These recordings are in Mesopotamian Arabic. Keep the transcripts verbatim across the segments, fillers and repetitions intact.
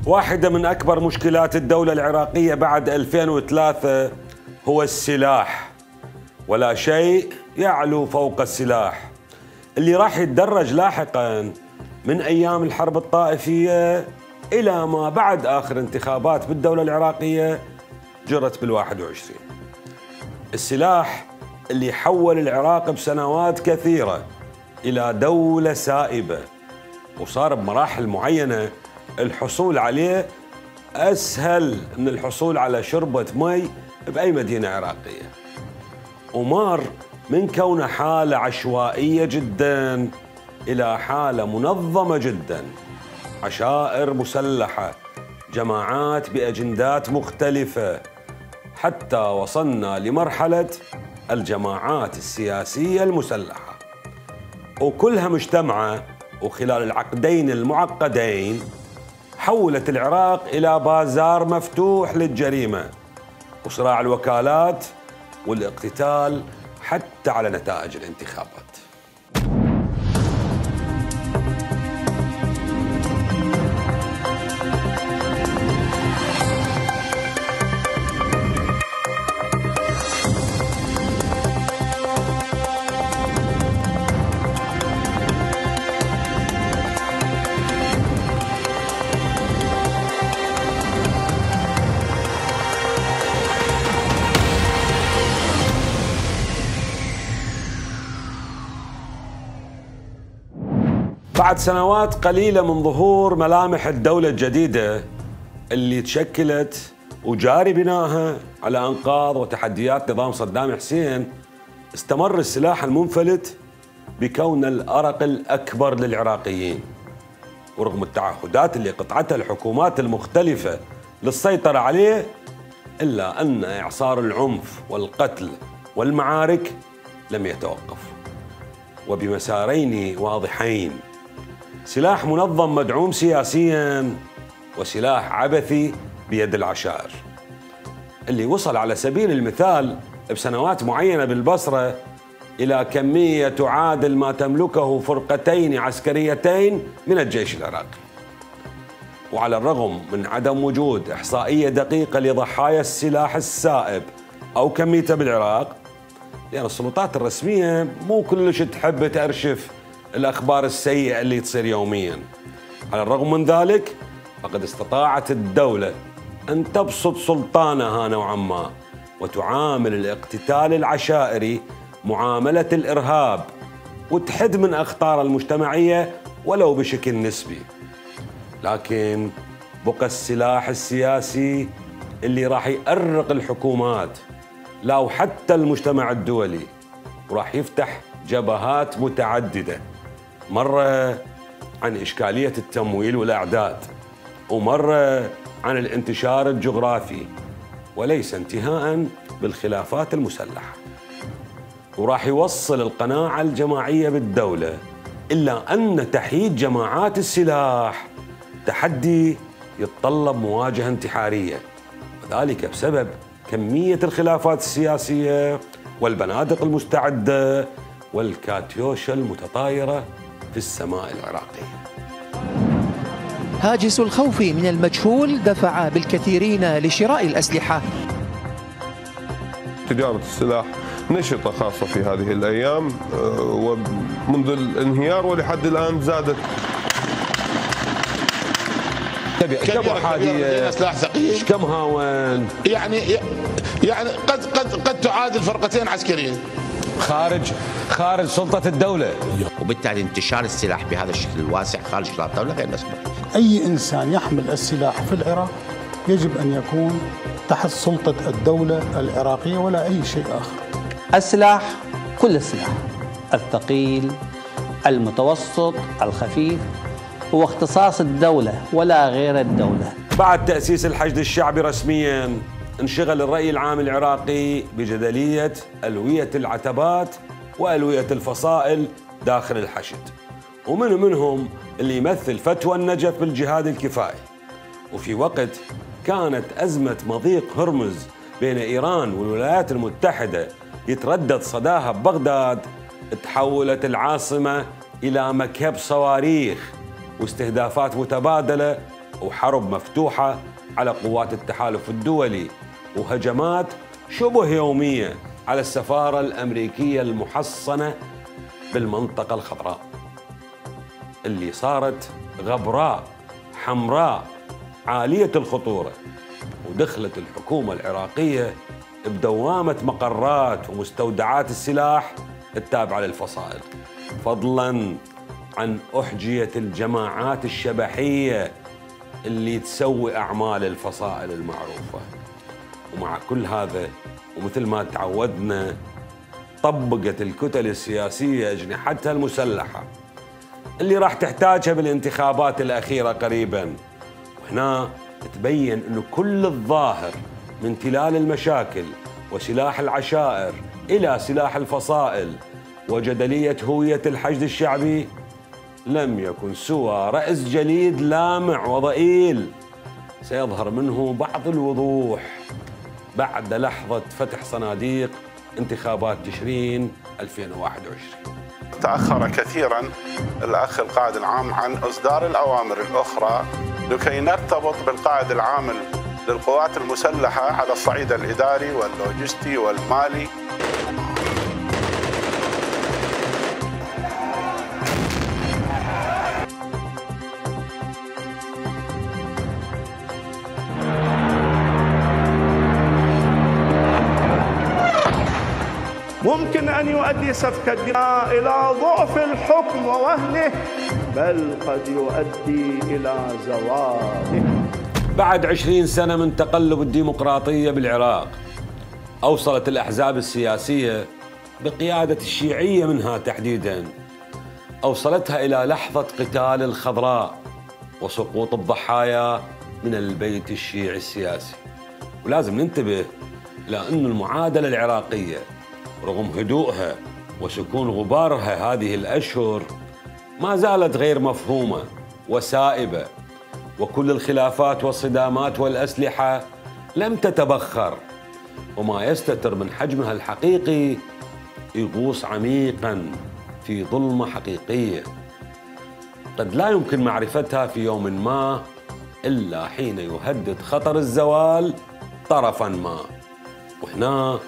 واحدة من أكبر مشكلات الدولة العراقية بعد ألفين وثلاثة هو السلاح، ولا شيء يعلو فوق السلاح اللي راح يتدرج لاحقاً من أيام الحرب الطائفية إلى ما بعد آخر انتخابات بالدولة العراقية جرت بالواحد وعشرين. السلاح اللي حول العراق بسنوات كثيرة إلى دولة سائبة، وصار بمراحل معينة الحصول عليه أسهل من الحصول على شربة مي بأي مدينة عراقية، ومار من كونه حالة عشوائية جدا إلى حالة منظمة جدا، عشائر مسلحة، جماعات بأجندات مختلفة، حتى وصلنا لمرحلة الجماعات السياسية المسلحة، وكلها مجتمعة. وخلال العقدين المعقدين حولت العراق إلى بازار مفتوح للجريمة وصراع الوكالات والاقتتال حتى على نتائج الانتخابات. بعد سنوات قليلة من ظهور ملامح الدولة الجديدة اللي تشكلت وجاري بنائها على أنقاض وتحديات نظام صدام حسين، استمر السلاح المنفلت بكون الأرق الأكبر للعراقيين، ورغم التعهدات اللي قطعتها الحكومات المختلفة للسيطرة عليه، إلا أن إعصار العنف والقتل والمعارك لم يتوقف، وبمسارين واضحين: سلاح منظم مدعوم سياسياً، وسلاح عبثي بيد العشائر، اللي وصل على سبيل المثال بسنوات معينة بالبصرة إلى كمية تعادل ما تملكه فرقتين عسكريتين من الجيش العراقي. وعلى الرغم من عدم وجود إحصائية دقيقة لضحايا السلاح السائب أو كميته بالعراق، لأن السلطات الرسمية مو كلش تحب تأرشف الأخبار السيئة اللي تصير يومياً، على الرغم من ذلك فقد استطاعت الدولة أن تبسط سلطانها نوعاً ما وتعامل الاقتتال العشائري معاملة الإرهاب، وتحد من أخطار المجتمعية ولو بشكل نسبي. لكن بقى السلاح السياسي اللي راح يأرق الحكومات لا وحتى المجتمع الدولي، وراح يفتح جبهات متعددة، مرة عن إشكالية التمويل والأعداد، ومرة عن الانتشار الجغرافي، وليس انتهاء بالخلافات المسلحة. وراح يوصل القناعة الجماعية بالدولة إلا أن تحييد جماعات السلاح تحدي يتطلب مواجهة انتحارية، وذلك بسبب كمية الخلافات السياسية والبنادق المستعدة والكاتيوشا المتطايرة في السماء العراقية. هاجس الخوف من المجهول دفع بالكثيرين لشراء الأسلحة. تجارة السلاح نشطة خاصة في هذه الأيام، ومنذ الانهيار ولحد الآن زادت. كم حادية سلاح ثقيل؟ كم هاون؟ يعني يعني قد قد قد تعادل فرقتين عسكريين خارج خارج سلطة الدولة، وبالتالي انتشار السلاح بهذا الشكل الواسع خارج سلطة الدولة غير مسموح. أي إنسان يحمل السلاح في العراق يجب أن يكون تحت سلطة الدولة العراقية ولا أي شيء آخر. السلاح كل السلاح، الثقيل، المتوسط، الخفيف، هو اختصاص الدولة ولا غير الدولة. بعد تأسيس الحشد الشعبي رسمياً، انشغل الرأي العام العراقي بجدلية ألوية العتبات وألوية الفصائل داخل الحشد، ومن منهم اللي يمثل فتوى النجف بالجهاد الكفائي. وفي وقت كانت أزمة مضيق هرمز بين إيران والولايات المتحدة يتردد صداها ببغداد، تحولت العاصمة إلى مكب صواريخ واستهدافات متبادلة وحرب مفتوحة على قوات التحالف الدولي، وهجمات شبه يومية على السفارة الأمريكية المحصنة بالمنطقة الخضراء اللي صارت غبراء حمراء عالية الخطورة. ودخلت الحكومة العراقية بدوامة مقرات ومستودعات السلاح التابعة للفصائل، فضلاً عن أحجية الجماعات الشبحية اللي تسوي أعمال الفصائل المعروفة. ومع كل هذا ومثل ما تعودنا طبقت الكتل السياسية أجنحتها المسلحة اللي راح تحتاجها بالانتخابات الأخيرة قريباً. وهنا تبين أنه كل الظاهر من تلال المشاكل وسلاح العشائر إلى سلاح الفصائل وجدلية هوية الحشد الشعبي لم يكن سوى رأس جليد لامع وضئيل سيظهر منه بعض الوضوح بعد لحظة فتح صناديق انتخابات تشرين ألفين وواحد وعشرين. تأخر كثيرا الأخ القائد العام عن إصدار الأوامر الأخرى لكي نرتبط بالقائد العام للقوات المسلحة على الصعيد الإداري واللوجستي والمالي. ممكن أن يؤدي سفك الدماء إلى ضعف الحكم ووهنه، بل قد يؤدي إلى زواله. بعد عشرين سنة من تقلب الديمقراطية بالعراق، أوصلت الأحزاب السياسية بقيادة الشيعية منها تحديداً، أوصلتها إلى لحظة قتال الخضراء وسقوط الضحايا من البيت الشيعي السياسي. ولازم ننتبه إلى أن المعادلة العراقية رغم هدوءها وسكون غبارها هذه الأشهر ما زالت غير مفهومة وسائبة، وكل الخلافات والصدامات والأسلحة لم تتبخر، وما يستتر من حجمها الحقيقي يغوص عميقاً في ظلمة حقيقية قد لا يمكن معرفتها في يوم ما إلا حين يهدد خطر الزوال طرفاً ما. وهنا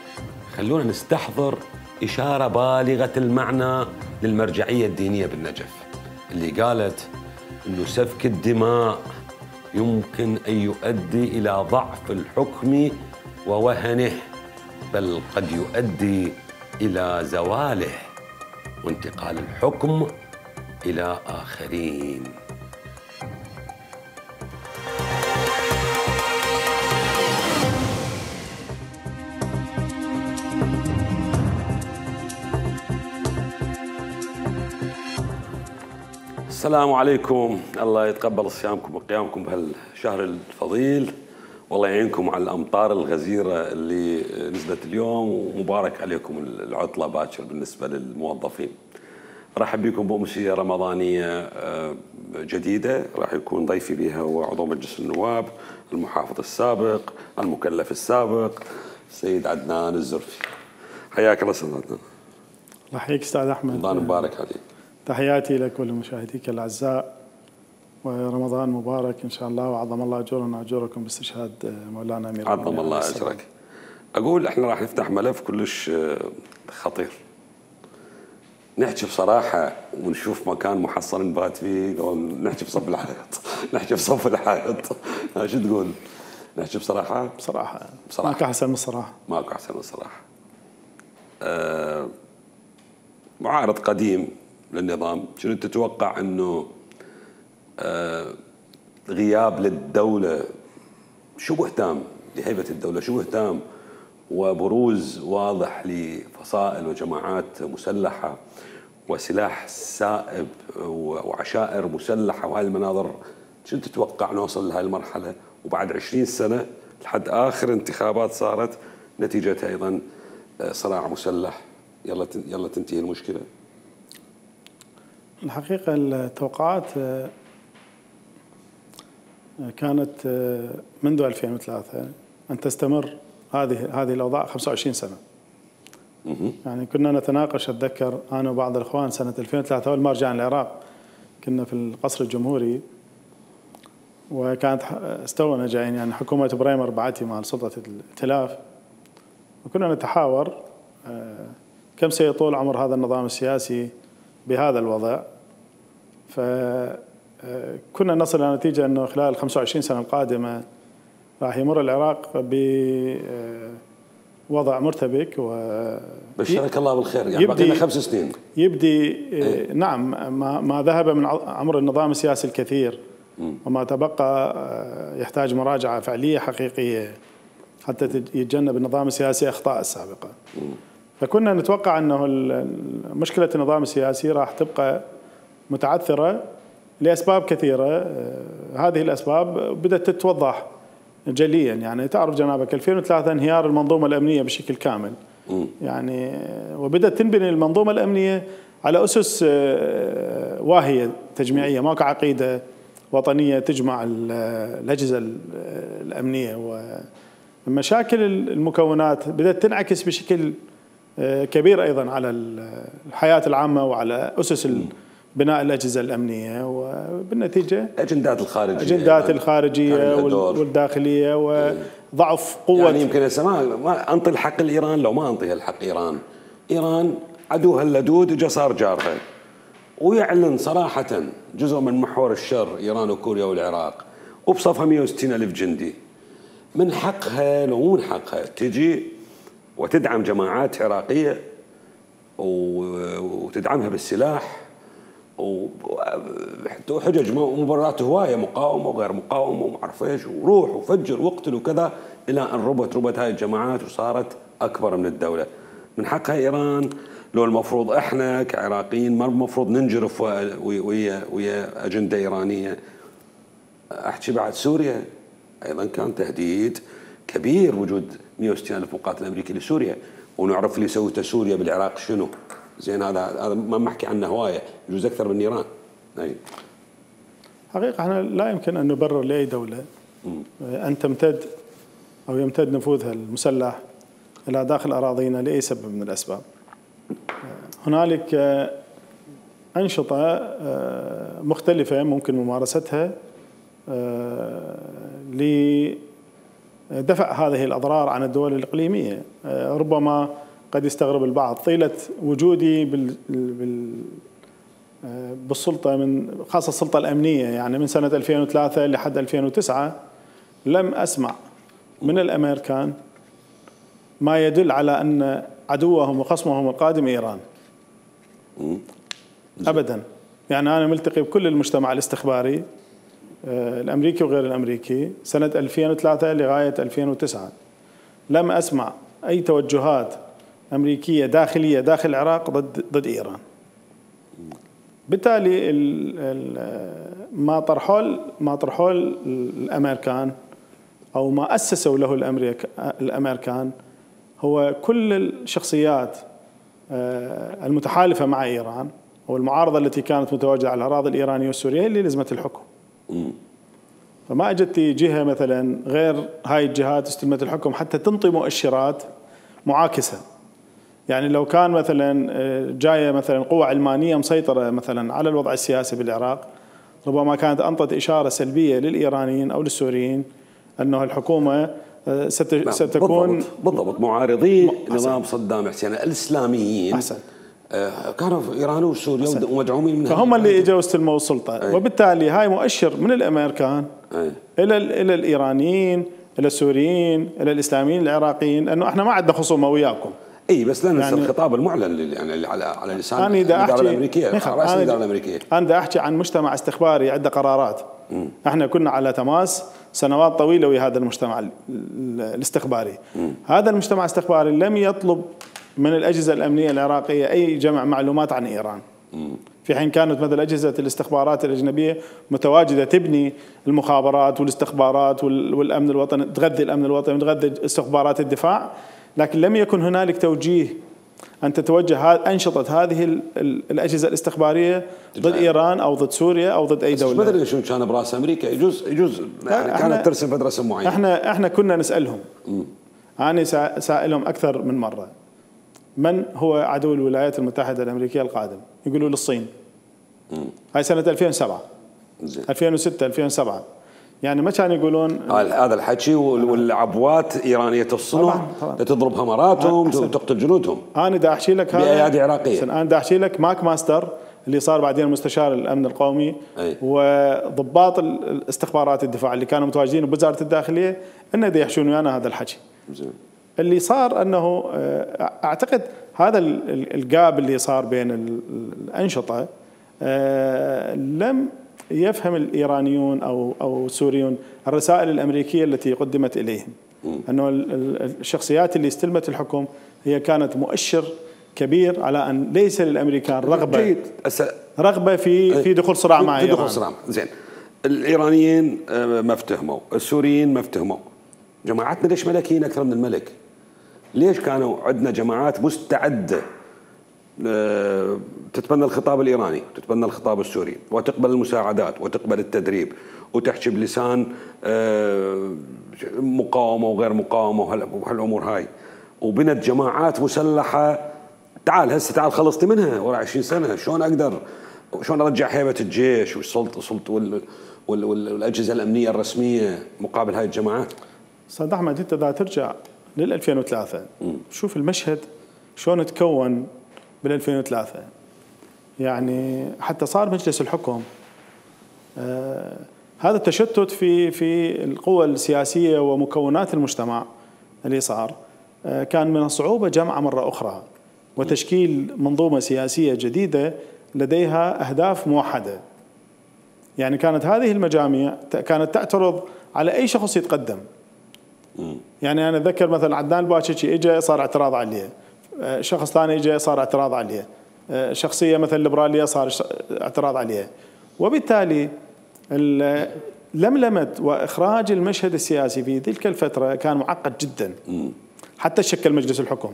خلونا نستحضر إشارة بالغة المعنى للمرجعية الدينية بالنجف اللي قالت إنه سفك الدماء يمكن أن يؤدي إلى ضعف الحكم ووهنه، بل قد يؤدي إلى زواله وانتقال الحكم إلى آخرين. السلام عليكم، الله يتقبل صيامكم وقيامكم بهالشهر الفضيل، والله يعينكم على الأمطار الغزيرة اللي نزلت اليوم، ومبارك عليكم العطلة باكر بالنسبة للموظفين. رحب بكم بأمسية رمضانية جديدة راح يكون ضيفي بها هو عضو مجلس النواب المحافظ السابق المكلف السابق السيد عدنان الزرفي. حياك الله استاذ عدنان. الله يحييك استاذ احمد. رمضان مبارك عليك. تحياتي لك ولمشاهديك الاعزاء، ورمضان مبارك ان شاء الله، وعظم الله اجورنا واجوركم باستشهاد مولانا امير المؤمنين. عظم الله اجرك. اقول احنا راح نفتح ملف كلش خطير، نحكي بصراحه ونشوف مكان محصن نبات فيه، لو نحكي بصف الحائط نحكي بصف الحائط. شو تقول؟ نحكي بصراحه؟ بصراحه بصراحه ماكو احسن من الصراحه. ماكو احسن من الصراحه. أه معارض قديم للنظام، شنو تتوقع انه أه غياب للدوله شبه تام لهيبه الدوله شبه تام وبروز واضح لفصائل وجماعات مسلحه وسلاح سائب وعشائر مسلحه وهذه المناظر، شنو تتوقع نوصل لهذه المرحله وبعد عشرين سنه لحد اخر انتخابات صارت نتيجتها ايضا صراع مسلح، يلا يلا تنتهي المشكله؟ الحقيقه التوقعات كانت منذ ألفين وثلاثة ان تستمر هذه هذه الاوضاع خمسة وعشرين سنه. يعني كنا نتناقش، اتذكر انا وبعض الاخوان سنه ألفين وثلاثة اول ما رجعنا العراق كنا في القصر الجمهوري، وكانت استونا جايين يعني حكومة بريمر بعتي مع سلطة الائتلاف، وكنا نتحاور كم سيطول عمر هذا النظام السياسي بهذا الوضع. فكنا نصل إلى نتيجة أنه خلال الخمسة وعشرين سنة القادمة راح يمر العراق بوضع مرتبك و بشرك الله بالخير، يعني باقي لنا خمس سنين يبدي ايه؟ نعم ما, ما ذهب من عمر النظام السياسي الكثير وما تبقى يحتاج مراجعة فعلية حقيقية حتى يتجنب النظام السياسي أخطاء السابقة. فكنا نتوقع أنه مشكلة النظام السياسي راح تبقى متعثرة لأسباب كثيرة. هذه الأسباب بدأت تتوضح جليا، يعني تعرف جنابك ألفين وثلاثة انهيار المنظومة الأمنية بشكل كامل، يعني وبدأت تنبني المنظومة الأمنية على أسس واهية تجميعية، ماكو عقيدة وطنية تجمع الأجهزة الأمنية، ومشاكل المكونات بدأت تنعكس بشكل كبير أيضا على الحياة العامة وعلى أسس بناء الأجهزة الأمنية، وبالنتيجة أجندات الخارجية أجندات الخارجية والداخلية وضعف قوة. يعني يمكن هسه ما أنطي الحق لإيران لو ما أنطيها الحق إيران. إيران عدوها اللدود اجى صار جارها، ويعلن صراحة جزء من محور الشر إيران وكوريا والعراق، وبصفها مئة وستين ألف جندي. من حقها لو مو من حقها تجي وتدعم جماعات عراقية وتدعمها بالسلاح وحجج مبررات هواية، مقاومة وغير مقاومة وما أعرف إيش، وروح وفجر واقتل وكذا، إلى أن ربت ربت هاي الجماعات وصارت أكبر من الدولة. من حقها إيران لو المفروض إحنا كعراقيين ما المفروض ننجرف ويا ويا أجندة إيرانية. أحكي بعد سوريا أيضا كان تهديد كبير وجود مئة وستين ألف مقاتل أمريكي لسوريا، ونعرف اللي سوته سوريا بالعراق شنو. زين هذا هذا ما نحكي عنه هوايه، يجوز اكثر من ايران. اي حقيقه احنا لا يمكن ان نبرر لاي دوله ان تمتد او يمتد نفوذها المسلح الى داخل اراضينا لاي سبب من الاسباب. هنالك انشطه مختلفه ممكن ممارستها لدفع هذه الاضرار عن الدول الاقليميه. ربما قد يستغرب البعض طيلة وجودي بال بال بالسلطة، من خاصة السلطة الأمنية، يعني من سنة ألفين وثلاثة لحد ألفين وتسعة لم أسمع من الأمريكان ما يدل على أن عدوهم وخصمهم القادم إيران أبدا. يعني أنا ملتقي بكل المجتمع الاستخباري الأمريكي وغير الأمريكي سنة ألفين وثلاثة لغاية ألفين وتسعة، لم أسمع أي توجهات أمريكية داخلية داخل العراق ضد ضد إيران. بالتالي ما طرحوا ما طرحوا الأمريكان أو ما أسسوا له الأمريكان هو كل الشخصيات المتحالفة مع إيران والمعارضة التي كانت متواجدة على الأراضي الإيرانية والسورية اللي لزمت الحكم. فما اجت جهة مثلا غير هاي الجهات استلمت الحكم حتى تنطي مؤشرات معاكسة. يعني لو كان مثلا جاية مثلا قوة علمانية مسيطرة مثلا على الوضع السياسي بالعراق، ربما كانت أنطت إشارة سلبية للإيرانيين أو للسوريين أنه الحكومة ستكون بالضبط, بالضبط معارضي نظام صدام حسين الإسلاميين أحسن. كانوا في إيران وسوريا ومدعومين منها، فهم اللي اجوا استلموا السلطة. أي. وبالتالي هاي مؤشر من الأمريكان أي. إلى إلى الإيرانيين إلى السوريين إلى الإسلاميين العراقيين أنه إحنا ما عندنا خصومة وياكم. اي بس لا ننسى يعني الخطاب المعلن يعني على على لسان الإدارة الأمريكية، رئاسة الإدارة الأمريكية. أنا دا أحكي عن مجتمع استخباري عنده قرارات. م. احنا كنا على تماس سنوات طويلة ويا هذا المجتمع الاستخباري. م. هذا المجتمع الاستخباري لم يطلب من الأجهزة الأمنية العراقية أي جمع معلومات عن إيران. م. في حين كانت مثل أجهزة الاستخبارات الأجنبية متواجدة تبني المخابرات والاستخبارات والأمن الوطني، تغذي الأمن الوطني وتغذي استخبارات الدفاع، لكن لم يكن هنالك توجيه أن تتوجه أنشطة هذه الأجهزة الاستخبارية ضد إيران أو ضد سوريا أو ضد أي دولة. ما أدري شو كان براس أمريكا، يجوز يجوز يعني كانت ترسم فد رسم معين. احنا احنا كنا نسألهم. م. أنا سائلهم أكثر من مرة من هو عدو الولايات المتحدة الأمريكية القادم؟ يقولوا للصين. م. هاي سنة ألفين وسبعة. زين. ألفين وستة ألفين وسبعة يعني ما كانوا يقولون هذا الحكي والعبوات ايرانيه الصنع تضرب همراتهم وتقتل جنودهم. انا دا احكي لك هذا بايادي عراقيه. انا دا احكي لك ماك ماستر اللي صار بعدين مستشار الامن القومي أي. وضباط الاستخبارات الدفاع اللي كانوا متواجدين بوزاره الداخليه انه دا يحشون ويانا هذا الحكي. زين. اللي صار انه اعتقد هذا الجاب اللي صار بين الانشطه لم يفهم الايرانيون او او السوريون الرسائل الامريكيه التي قدمت اليهم. انه الشخصيات اللي استلمت الحكم هي كانت مؤشر كبير على ان ليس للامريكان رغبه جيد. رغبه في في دخول صراع مع ايران. دخول صراع. زين. الايرانيين ما افتهموا، السوريين ما افتهموا. جماعتنا ليش ملكيين اكثر من الملك؟ ليش كانوا عندنا جماعات مستعده تتبنى الخطاب الايراني، تتبنى الخطاب السوري، وتقبل المساعدات وتقبل التدريب وتحكي بلسان مقاومه وغير مقاومه وهالامور هاي، وبنت جماعات مسلحه. تعال هسه تعال خلصتي منها ورا عشرين سنه، شلون اقدر شلون ارجع هيبه الجيش والسلطه سلطه وال وال والاجهزه الامنيه الرسميه مقابل هاي الجماعات؟ استاذ احمد انت اذا ترجع لل ألفين وثلاثة شوف المشهد شلون تكون بال ألفين وثلاثة، يعني حتى صار مجلس الحكم آه هذا التشتت في في القوى السياسيه ومكونات المجتمع اللي صار آه كان من الصعوبه جمعه مره اخرى وتشكيل منظومه سياسيه جديده لديها اهداف موحده. يعني كانت هذه المجاميع كانت تعترض على اي شخص يتقدم. يعني انا اتذكر مثلا عدنان الباشيشي اجى صار اعتراض عليه، شخص ثاني اجى صار اعتراض عليه، شخصيه مثلا ليبراليه صار اعتراض عليه. وبالتالي لملمه واخراج المشهد السياسي في تلك الفتره كان معقد جدا. حتى شكل مجلس الحكم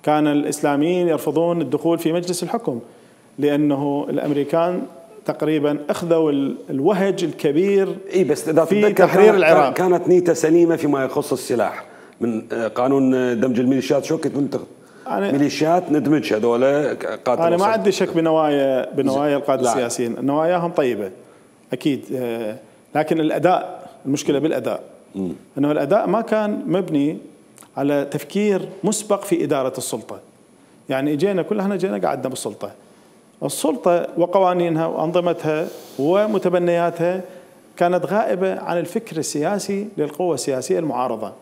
كان الاسلاميين يرفضون الدخول في مجلس الحكم لانه الامريكان تقريبا اخذوا الوهج الكبير اي بس اذا في تحرير العراق. كانت نيته سليمه فيما يخص السلاح من قانون دمج الميليشيات. شو كنت منتخب ميليشيات ندمج هذول قاتل. انا ما عندي شك بنوايا بنوايا القاده السياسيين، نواياهم طيبه اكيد، لكن الاداء المشكله بالاداء. م. انه الاداء ما كان مبني على تفكير مسبق في اداره السلطه. يعني اجينا كلنا جينا قعدنا بالسلطه. السلطه وقوانينها وانظمتها ومتبنياتها كانت غائبه عن الفكر السياسي للقوى السياسيه المعارضه.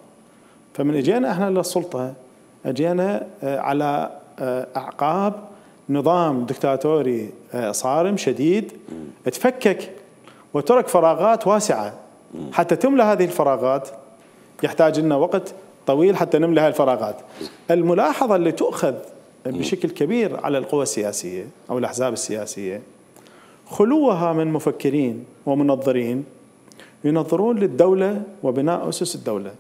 فمن اجينا احنا للسلطه اجينا على اعقاب نظام دكتاتوري صارم شديد تفكك وترك فراغات واسعه. حتى تملى هذه الفراغات يحتاج لنا وقت طويل حتى نملى هذه الفراغات. الملاحظه اللي تؤخذ بشكل كبير على القوى السياسيه او الاحزاب السياسيه خلوها من مفكرين ومنظرين ينظرون للدوله وبناء اسس الدوله.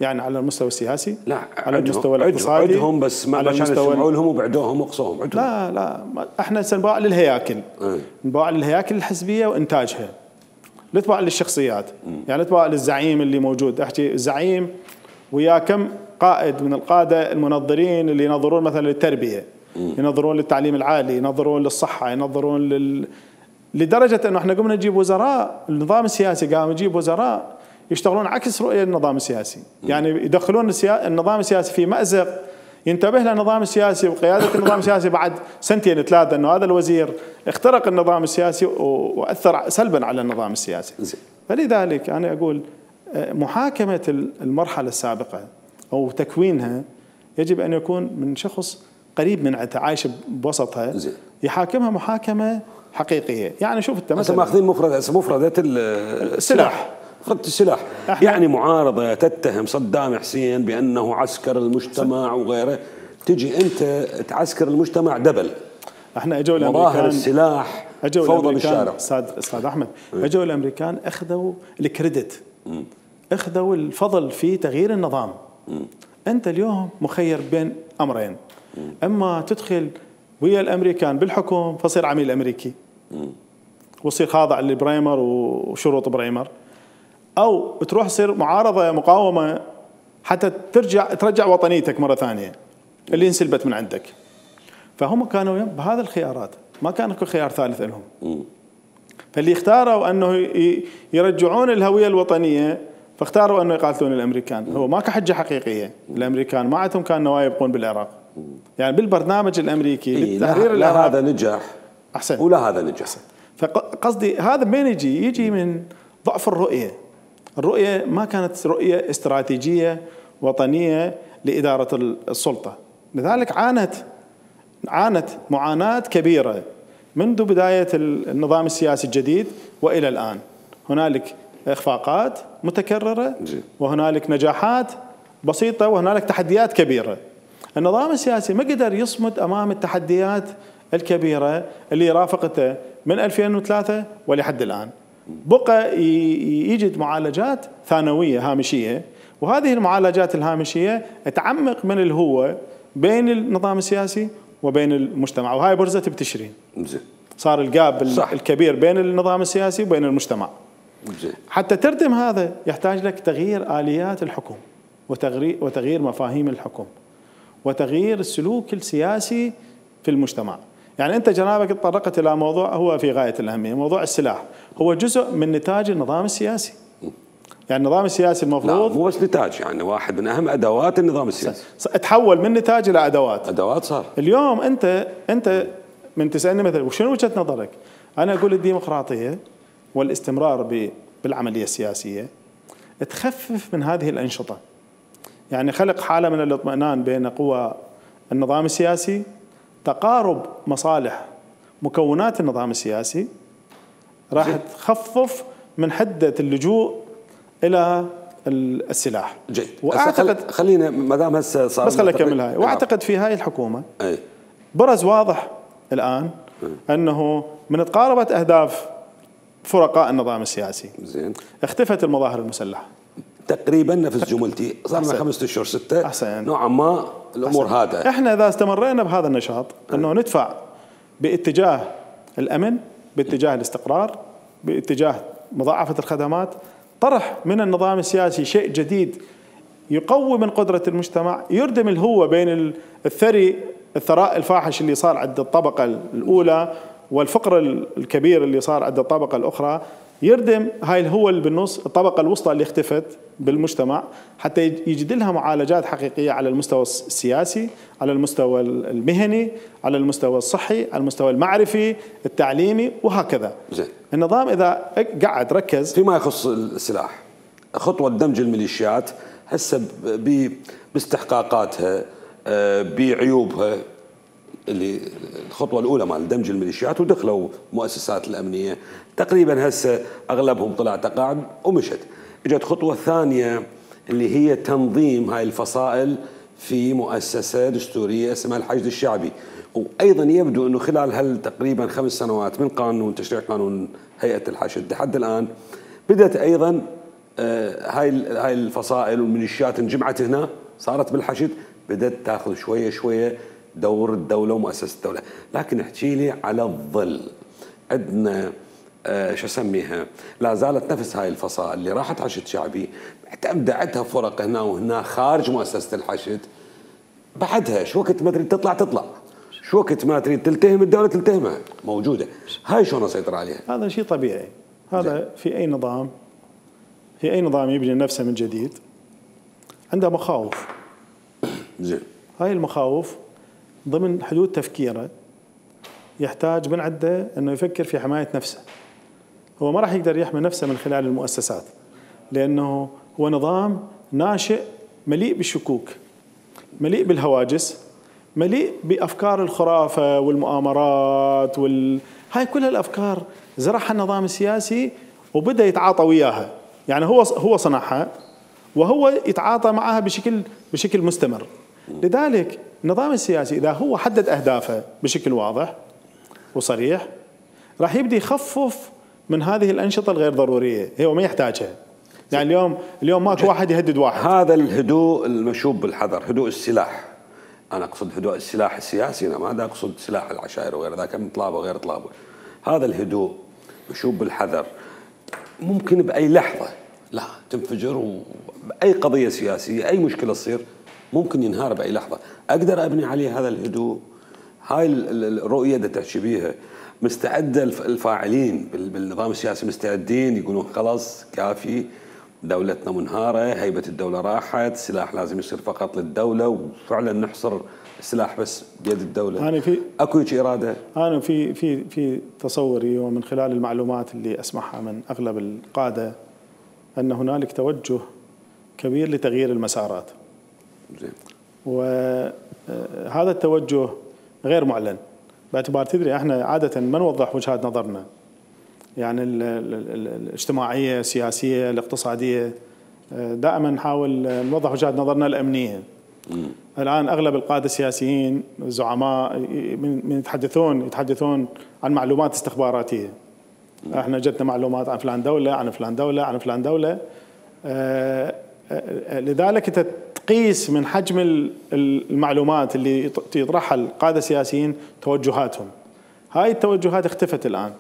يعني على المستوى السياسي، لا على المستوى الاقتصادي، عدهم بس ما عشان يسمعوا لهم وبعدوهم وقصوهم. لا لا احنا سنباع للهياكل، اه. نباع للهياكل الحزبيه وانتاجها، نتباع للشخصيات. م. يعني نتباع للزعيم اللي موجود. احكي الزعيم ويا كم قائد من القاده المنظرين اللي ينظرون مثلا للتربيه، م. ينظرون للتعليم العالي، ينظرون للصحه، ينظرون لل لدرجه انه احنا قمنا نجيب وزراء. النظام السياسي قام يجيب وزراء يشتغلون عكس رؤيه النظام السياسي. يعني يدخلون النظام السياسي في مأزق ينتبه له النظام السياسي وقياده النظام السياسي بعد سنتين ثلاثه انه هذا الوزير اخترق النظام السياسي واثر سلبا على النظام السياسي. فلذلك انا اقول محاكمه المرحله السابقه او تكوينها يجب ان يكون من شخص قريب من عايش بوسطها يحاكمها محاكمه حقيقيه. يعني شوف انت مثلا ماخذين مفردة مفردة السلاح، مفردة السلاح يعني معارضة تتهم صدام حسين بأنه عسكر المجتمع وغيره، تجي أنت تعسكر المجتمع دبل. احنا اجوا الامريكان مظاهر السلاح فوضى بالشارع. استاذ استاذ احمد اجوا الامريكان اخذوا الكريدت، اخذوا الفضل في تغيير النظام. م. انت اليوم مخير بين امرين، م. اما تدخل ويا الامريكان بالحكم فصير عميل امريكي وتصير خاضع لبريمر وشروط بريمر، او تروح تصير معارضه مقاومه حتى ترجع ترجع وطنيتك مره ثانيه اللي انسلبت من عندك. فهم كانوا بهذا الخيارات، ما كان اكو خيار ثالث لهم. فاللي اختاروا انه يرجعون الهويه الوطنيه فاختاروا انه يقاتلون الامريكان. هو ما كحجه حقيقيه، الامريكان ما عندهم كان نوايا يبقون بالعراق. يعني بالبرنامج الامريكي إيه للتحرير لا, لا هذا نجح احسن ولا هذا نجح. فقصدي هذا من يجي يجي من ضعف الرؤيه. الرؤيه ما كانت رؤيه استراتيجيه وطنيه لاداره السلطه، لذلك عانت عانت معاناه كبيره منذ بدايه النظام السياسي الجديد والى الان. هنالك اخفاقات متكرره وهنالك نجاحات بسيطه وهنالك تحديات كبيره. النظام السياسي ما قدر يصمد امام التحديات الكبيره اللي رافقته من ألفين وثلاثة ولحد الان. بقى يجد معالجات ثانويه هامشيه، وهذه المعالجات الهامشيه تعمق من الهوه بين النظام السياسي وبين المجتمع، وهاي برزت بتشرين. صار الجاب الكبير بين النظام السياسي وبين المجتمع. حتى تردم هذا يحتاج لك تغيير آليات الحكم وتغيير مفاهيم الحكم وتغيير السلوك السياسي في المجتمع. يعني أنت جنابك تطرقت إلى موضوع هو في غاية الأهمية، موضوع السلاح هو جزء من نتاج النظام السياسي. يعني النظام السياسي المفروض لا مو بس نتاج، يعني واحد من أهم أدوات النظام السياسي. تحول من نتاج إلى أدوات. أدوات صار. اليوم أنت أنت من تسألني مثلا وشنو وجهة نظرك؟ أنا أقول الديمقراطية والاستمرار بالعملية السياسية تخفف من هذه الأنشطة، يعني خلق حالة من الاطمئنان بين قوى النظام السياسي، تقارب مصالح مكونات النظام السياسي، راح تخفف من حدة اللجوء إلى السلاح. جيد. واعتقد خلينا ما دام هسه صار بس خليني اكمل هاي. واعتقد في هاي الحكومة أي. برز واضح الآن أي. أنه من تقاربت أهداف فرقاء النظام السياسي زين اختفت المظاهر المسلحة تقريبا نفس جملتي. صار لنا خمسة اشهر ستة أحسن. نوعا ما الامور هذا. احنا اذا استمرينا بهذا النشاط انه ندفع باتجاه الامن، باتجاه الاستقرار، باتجاه مضاعفة الخدمات، طرح من النظام السياسي شيء جديد يقوي من قدرة المجتمع، يردم الهوة بين الثري الثراء الفاحش اللي صار عند الطبقة الأولى والفقر الكبير اللي صار عند الطبقة الأخرى، يردم هاي الهوة اللي بالنص الطبقة الوسطى اللي اختفت بالمجتمع، حتى يجد لها معالجات حقيقية على المستوى السياسي، على المستوى المهني، على المستوى الصحي، على المستوى المعرفي، التعليمي وهكذا. زي. النظام إذا قعد ركز فيما يخص السلاح، خطوة دمج الميليشيات هسه باستحقاقاتها بعيوبها، اللي الخطوة الأولى مال دمج الميليشيات ودخلوا مؤسسات الأمنية تقريبا هسه أغلبهم طلع تقاعد ومشت. اجت خطوة ثانية اللي هي تنظيم هاي الفصائل في مؤسسة دستورية اسمها الحشد الشعبي، وأيضا يبدو أنه خلال هال تقريبا خمس سنوات من قانون تشريع قانون هيئة الحشد لحد الآن بدأت أيضا هاي هاي الفصائل والميليشيات انجمعت هنا، صارت بالحشد، بدأت تاخذ شوية شوية دور الدولة ومؤسسة الدولة. لكن احكي لي على الظل عندنا آه شو اسميها، لا زالت نفس هاي الفصائل اللي راحت حشد شعبي ابدعتها فرق هنا وهنا خارج مؤسسة الحشد، بعدها شو وقت ما تريد تطلع تطلع، شو وقت ما تريد تلتهم الدولة تلتهمها، موجودة. هاي شلون اسيطر عليها؟ هذا شيء طبيعي، هذا جي. في اي نظام في اي نظام يبني نفسه من جديد عنده مخاوف. زين. هاي المخاوف ضمن حدود تفكيره يحتاج من عنده انه يفكر في حماية نفسه. هو ما راح يقدر يحمي نفسه من خلال المؤسسات، لانه هو نظام ناشئ مليء بالشكوك، مليء بالهواجس، مليء بافكار الخرافه والمؤامرات وال هاي كل الافكار زرعها النظام السياسي وبدا يتعاطى وياها. يعني هو هو صنعها وهو يتعاطى معها بشكل بشكل مستمر. لذلك النظام السياسي إذا هو حدد أهدافه بشكل واضح وصريح راح يبدأ يخفف من هذه الأنشطة الغير ضرورية، هو ما يحتاجها. يعني اليوم اليوم ماكو واحد يهدد واحد. هذا الهدوء المشوب بالحذر، هدوء السلاح، أنا أقصد هدوء السلاح السياسي، أنا ما أقصد سلاح العشائر وغير ذاك من طلابه وغير طلابه. هذا الهدوء مشوب بالحذر ممكن بأي لحظة لا تنفجر، وبأي قضية سياسية أي مشكلة تصير ممكن ينهار بأي لحظة. أقدر أبني عليه هذا الهدوء، هاي الرؤية اللي تحكي بيها مستعده الفاعلين بالنظام السياسي مستعدين يقولون خلاص كافي، دولتنا منهاره، هيبه الدوله راحت، السلاح لازم يصير فقط للدوله، وفعلا نحصر السلاح بس بيد الدوله. أنا في اكو هيك اراده؟ انا في في في تصوري ومن خلال المعلومات اللي اسمعها من اغلب القاده ان هنالك توجه كبير لتغيير المسارات. زين. وهذا التوجه غير معلن، باعتبار تدري احنا عاده ما نوضح وجهات نظرنا، يعني ال ال الاجتماعيه، السياسيه، الاقتصاديه، دائما نحاول نوضح وجهات نظرنا الامنيه. مم. الان اغلب القاده السياسيين الزعماء من يتحدثون يتحدثون عن معلومات استخباراتيه. مم. احنا جتنا معلومات عن فلان دوله، عن فلان دوله، عن فلان دوله. آه لذلك انت تقيس من حجم المعلومات اللي يطرحها القاده السياسيين توجهاتهم. هاي التوجهات اختفت الان.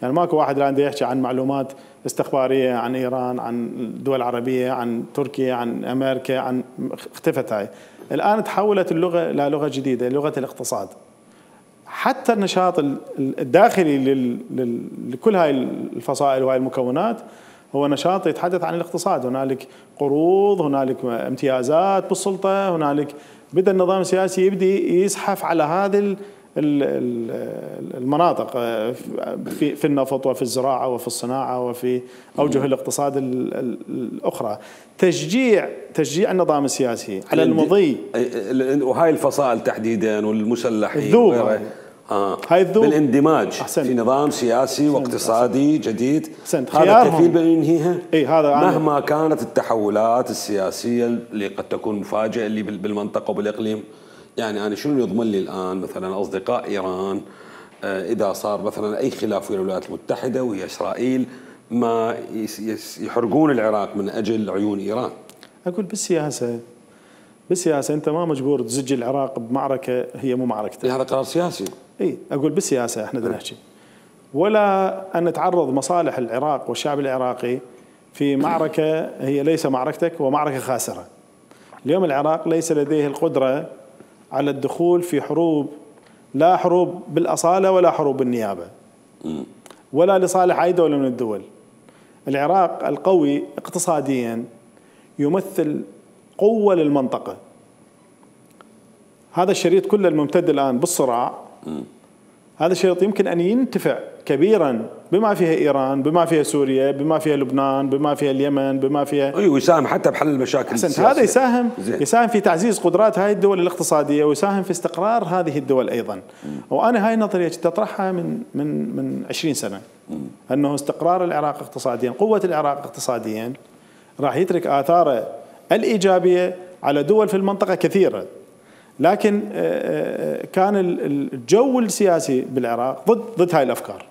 يعني ماكو واحد الان يحكي عن معلومات استخباريه عن ايران، عن الدول العربيه، عن تركيا، عن امريكا، عن اختفت هاي. الان تحولت اللغه الى لغه جديده، لغه الاقتصاد. حتى النشاط الداخلي لكل هاي الفصائل وهاي المكونات هو نشاط يتحدث عن الاقتصاد. هنالك قروض، هنالك امتيازات بالسلطه، هنالك بدا النظام السياسي يبدي يزحف على هذه المناطق في في النفط وفي الزراعه وفي الصناعه وفي اوجه الاقتصاد الاخرى. تشجيع تشجيع النظام السياسي على المضي، وهاي الفصائل تحديدا والمسلحين الذوق آه. هاي الذوق بالاندماج أحسن. في نظام سياسي أحسن. واقتصادي أحسن. جديد أحسن. هذا كفيل بأن ينهيها هذا مهما كانت التحولات السياسيه اللي قد تكون مفاجئه اللي بالمنطقه وبالاقليم. يعني أنا شنو يضمن لي الآن مثلا أصدقاء إيران إذا صار مثلا أي خلاف ويا الولايات المتحدة ويا إسرائيل ما يحرقون العراق من أجل عيون إيران؟ أقول بالسياسة بالسياسة أنت ما مجبور تزج العراق بمعركة هي مو معركتك. هذا قرار سياسي. إي أقول بالسياسة إحنا بدنا نحكي، ولا أن تعرض مصالح العراق والشعب العراقي في معركة هي ليس معركتك ومعركة خاسرة. اليوم العراق ليس لديه القدرة على الدخول في حروب، لا حروب بالأصالة ولا حروب بالنيابة ولا لصالح أي دولة من الدول. العراق القوي اقتصاديا يمثل قوة للمنطقة. هذا الشريط كله الممتد الآن بالصراع، هذا الشريط يمكن أن ينتفع كبيرا بما فيها إيران، بما فيها سوريا، بما فيها لبنان، بما فيها اليمن، بما فيها أيوة، ويساهم حتى بحل المشاكل السياسية. هذا يساهم زي. يساهم في تعزيز قدرات هاي الدول الاقتصادية، ويساهم في استقرار هذه الدول أيضا. مم. وأنا هاي النظرية تطرحها من من من عشرين سنة، مم. أنه استقرار العراق اقتصاديا، قوة العراق اقتصاديا راح يترك آثاره الإيجابية على دول في المنطقة كثيرة. لكن كان الجو السياسي بالعراق ضد ضد هاي الافكار،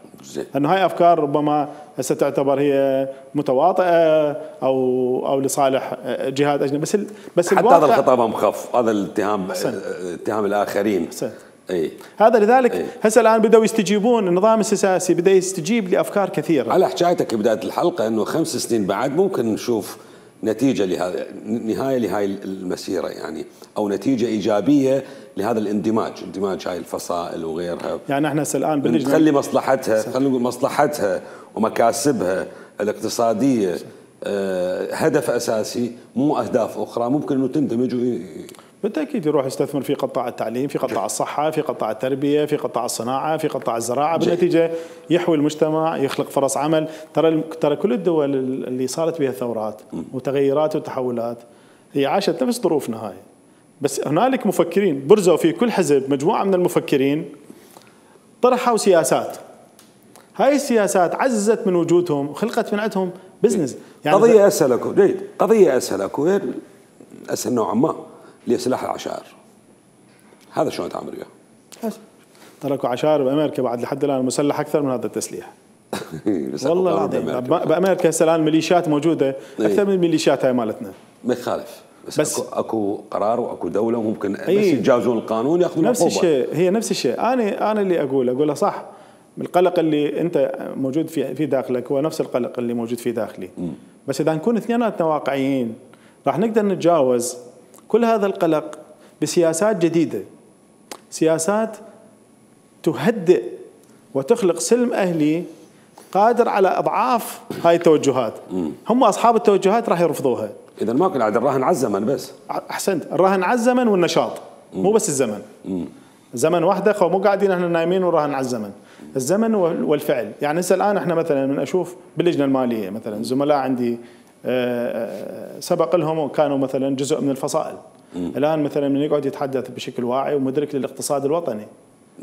انه هاي افكار ربما هسه تعتبر هي متواطئه او او لصالح جهات اجنبيه، بس بس حتى هذا الخطاب مخف، هذا الاتهام اتهام الاخرين. اي هذا لذلك هسه الان بداوا يستجيبون، النظام السياسي بدا يستجيب لافكار كثيره. على حكايتك بدايه الحلقه انه خمس سنين بعد ممكن نشوف نتيجة لهذا، نهاية لهاي المسيرة يعني، أو نتيجة إيجابية لهذا الاندماج، اندماج هاي الفصائل وغيرها. يعني احنا الآن بنخلي مصلحتها، خلينا نقول مصلحتها ومكاسبها الاقتصادية آه هدف أساسي، مو أهداف أخرى ممكن أنه تندمج. بالتأكيد يروح يستثمر في قطاع التعليم، في قطاع الصحة، في قطاع التربية، في قطاع الصناعة، في قطاع الزراعة. بالنتيجة يحوي المجتمع، يخلق فرص عمل. ترى ترى كل الدول اللي صارت بها ثورات وتغيرات وتحولات هي عاشت نفس ظروفنا هاي، بس هنالك مفكرين برزوا في كل حزب مجموعة من المفكرين طرحوا سياسات. هاي السياسات عززت من وجودهم وخلقت من عندهم بزنس. يعني قضية أسهل أكو جيد، قضية أسهل أكو أسهل نوعا ما لسلاح العشائر. هذا شلون تعمل وياه؟ تركوا عشائر بامريكا بعد لحد الان مسلح اكثر من هذا التسليح. والله العظيم بامريكا هسه الان ميليشيات موجوده اكثر من الميليشيات هاي مالتنا. ما يخالف، بس, بس اكو اكو قرار واكو دوله وممكن بس يتجاوزون القانون ياخذون نفس الشيء. هي نفس الشيء. انا انا اللي اقول اقوله صح. القلق اللي انت موجود في في داخلك هو نفس القلق اللي موجود في داخلي. م. بس اذا نكون اثنيناتنا واقعيين راح نقدر نتجاوز كل هذا القلق بسياسات جديدة، سياسات تهدئ وتخلق سلم أهلي قادر على أضعاف هاي التوجهات. هم أصحاب التوجهات راح يرفضوها. إذا ماكو عاد الراهن على الزمن بس. أحسنت، الراهن على الزمن والنشاط، مو بس الزمن. زمن واحدة، خو مو قاعدين احنا نايمين وراهن على الزمن. الزمن والفعل، يعني هسه الآن احنا مثلا من أشوف باللجنة المالية مثلا زملاء عندي سبق لهم وكانوا مثلا جزء من الفصائل. الآن مثلا من يقعد يتحدث بشكل واعي ومدرك للاقتصاد الوطني،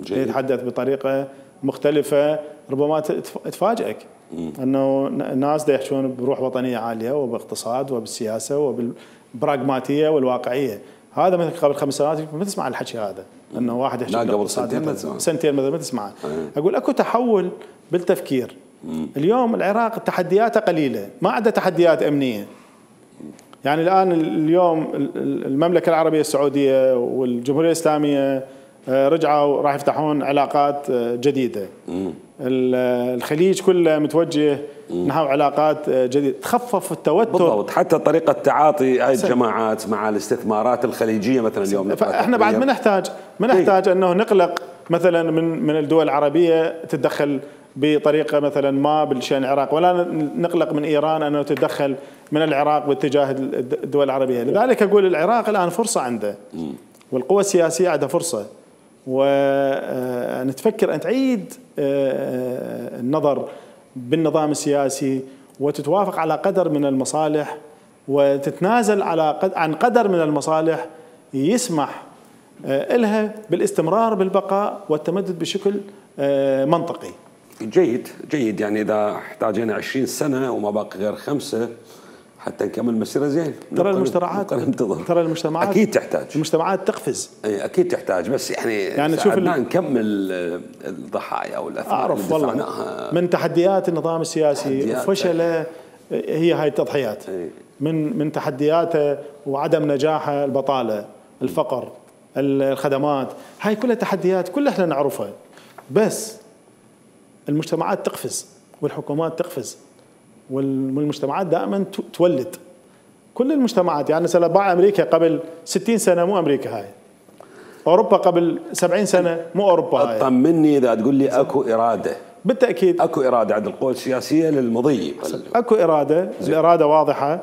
جيد. يتحدث بطريقة مختلفة ربما تفاجئك أنه الناس دا يحشون بروح وطنية عالية وباقتصاد وبالسياسة وبالبراغماتية والواقعية. هذا مثل قبل خمس سنوات ما تسمع الحكي هذا، أنه واحد يحكي لا قبل سنتين مثلا سنتين مثلا ما تسمعه. أقول أكو تحول بالتفكير. اليوم العراق تحدياته قليلة، ما عنده تحديات أمنية. يعني الآن اليوم المملكة العربية السعودية والجمهورية الإسلامية رجعوا راح يفتحون علاقات جديدة. الخليج كله متوجه نحو علاقات جديدة، تخفف التوتر. بالضبط، حتى طريقة تعاطي هاي الجماعات مع الاستثمارات الخليجية مثلا اليوم. فاحنا بعد ما نحتاج ما نحتاج انه نقلق مثلا من من الدول العربية تتدخل بطريقة مثلا ما بالشأن العراق، ولا نقلق من إيران أنه تتدخل من العراق باتجاه الدول العربية. لذلك أقول العراق الآن فرصة عنده، والقوى السياسية عندها فرصة، ونتفكر أن تعيد النظر بالنظام السياسي وتتوافق على قدر من المصالح وتتنازل على قد عن قدر من المصالح يسمح لها بالاستمرار بالبقاء والتمدد بشكل منطقي. جيد جيد، يعني إذا احتاجنا عشرين سنة وما باقي غير خمسة حتى نكمل مسيرة زين. ترى المجتمعات ترى المجتمعات أكيد تحتاج، المجتمعات تقفز. أي أكيد تحتاج، بس يعني يعني شوف نكمل الضحايا والأثار اللي دفعناها من تحديات النظام السياسي وفشله هي هاي التضحيات. أي. من من تحدياته وعدم نجاحه البطالة، الفقر، الخدمات، هاي كلها تحديات كلها احنا نعرفها، بس المجتمعات تقفز والحكومات تقفز والمجتمعات دائما تولد. كل المجتمعات، يعني مثلا باع امريكا قبل ستين سنه مو امريكا هاي، اوروبا قبل سبعين سنه مو اوروبا هاي. طمني اذا تقول لي اكو اراده. بالتاكيد اكو اراده عند القوى السياسيه للمضي. اكو اراده، الاراده واضحه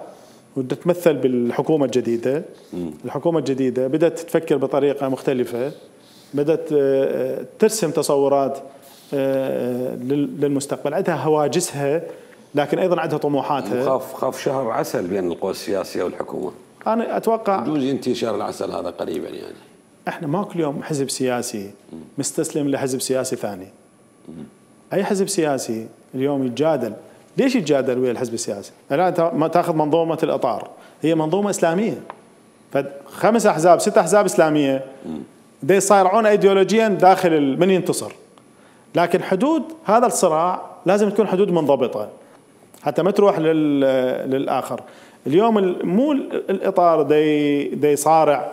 وتتمثل بالحكومه الجديده. م. الحكومه الجديده بدات تفكر بطريقه مختلفه، بدات ترسم تصورات للمستقبل، عندها هواجسها لكن ايضا عندها طموحاتها. خاف خاف شهر عسل بين القوى السياسيه والحكومه. انا اتوقع يجوز ينتهي شهر العسل هذا قريبا. يعني احنا ماكو اليوم حزب سياسي مستسلم لحزب سياسي ثاني. اي حزب سياسي اليوم يتجادل، ليش يتجادل ويا الحزب السياسي؟ الان ما تاخذ منظومه الاطار، هي منظومه اسلاميه، فخمس احزاب ست احزاب اسلاميه دا يصارعون ايديولوجيا داخل من ينتصر، لكن حدود هذا الصراع لازم تكون حدود منضبطه حتى ما تروح للاخر. اليوم مو الاطار دا يصارع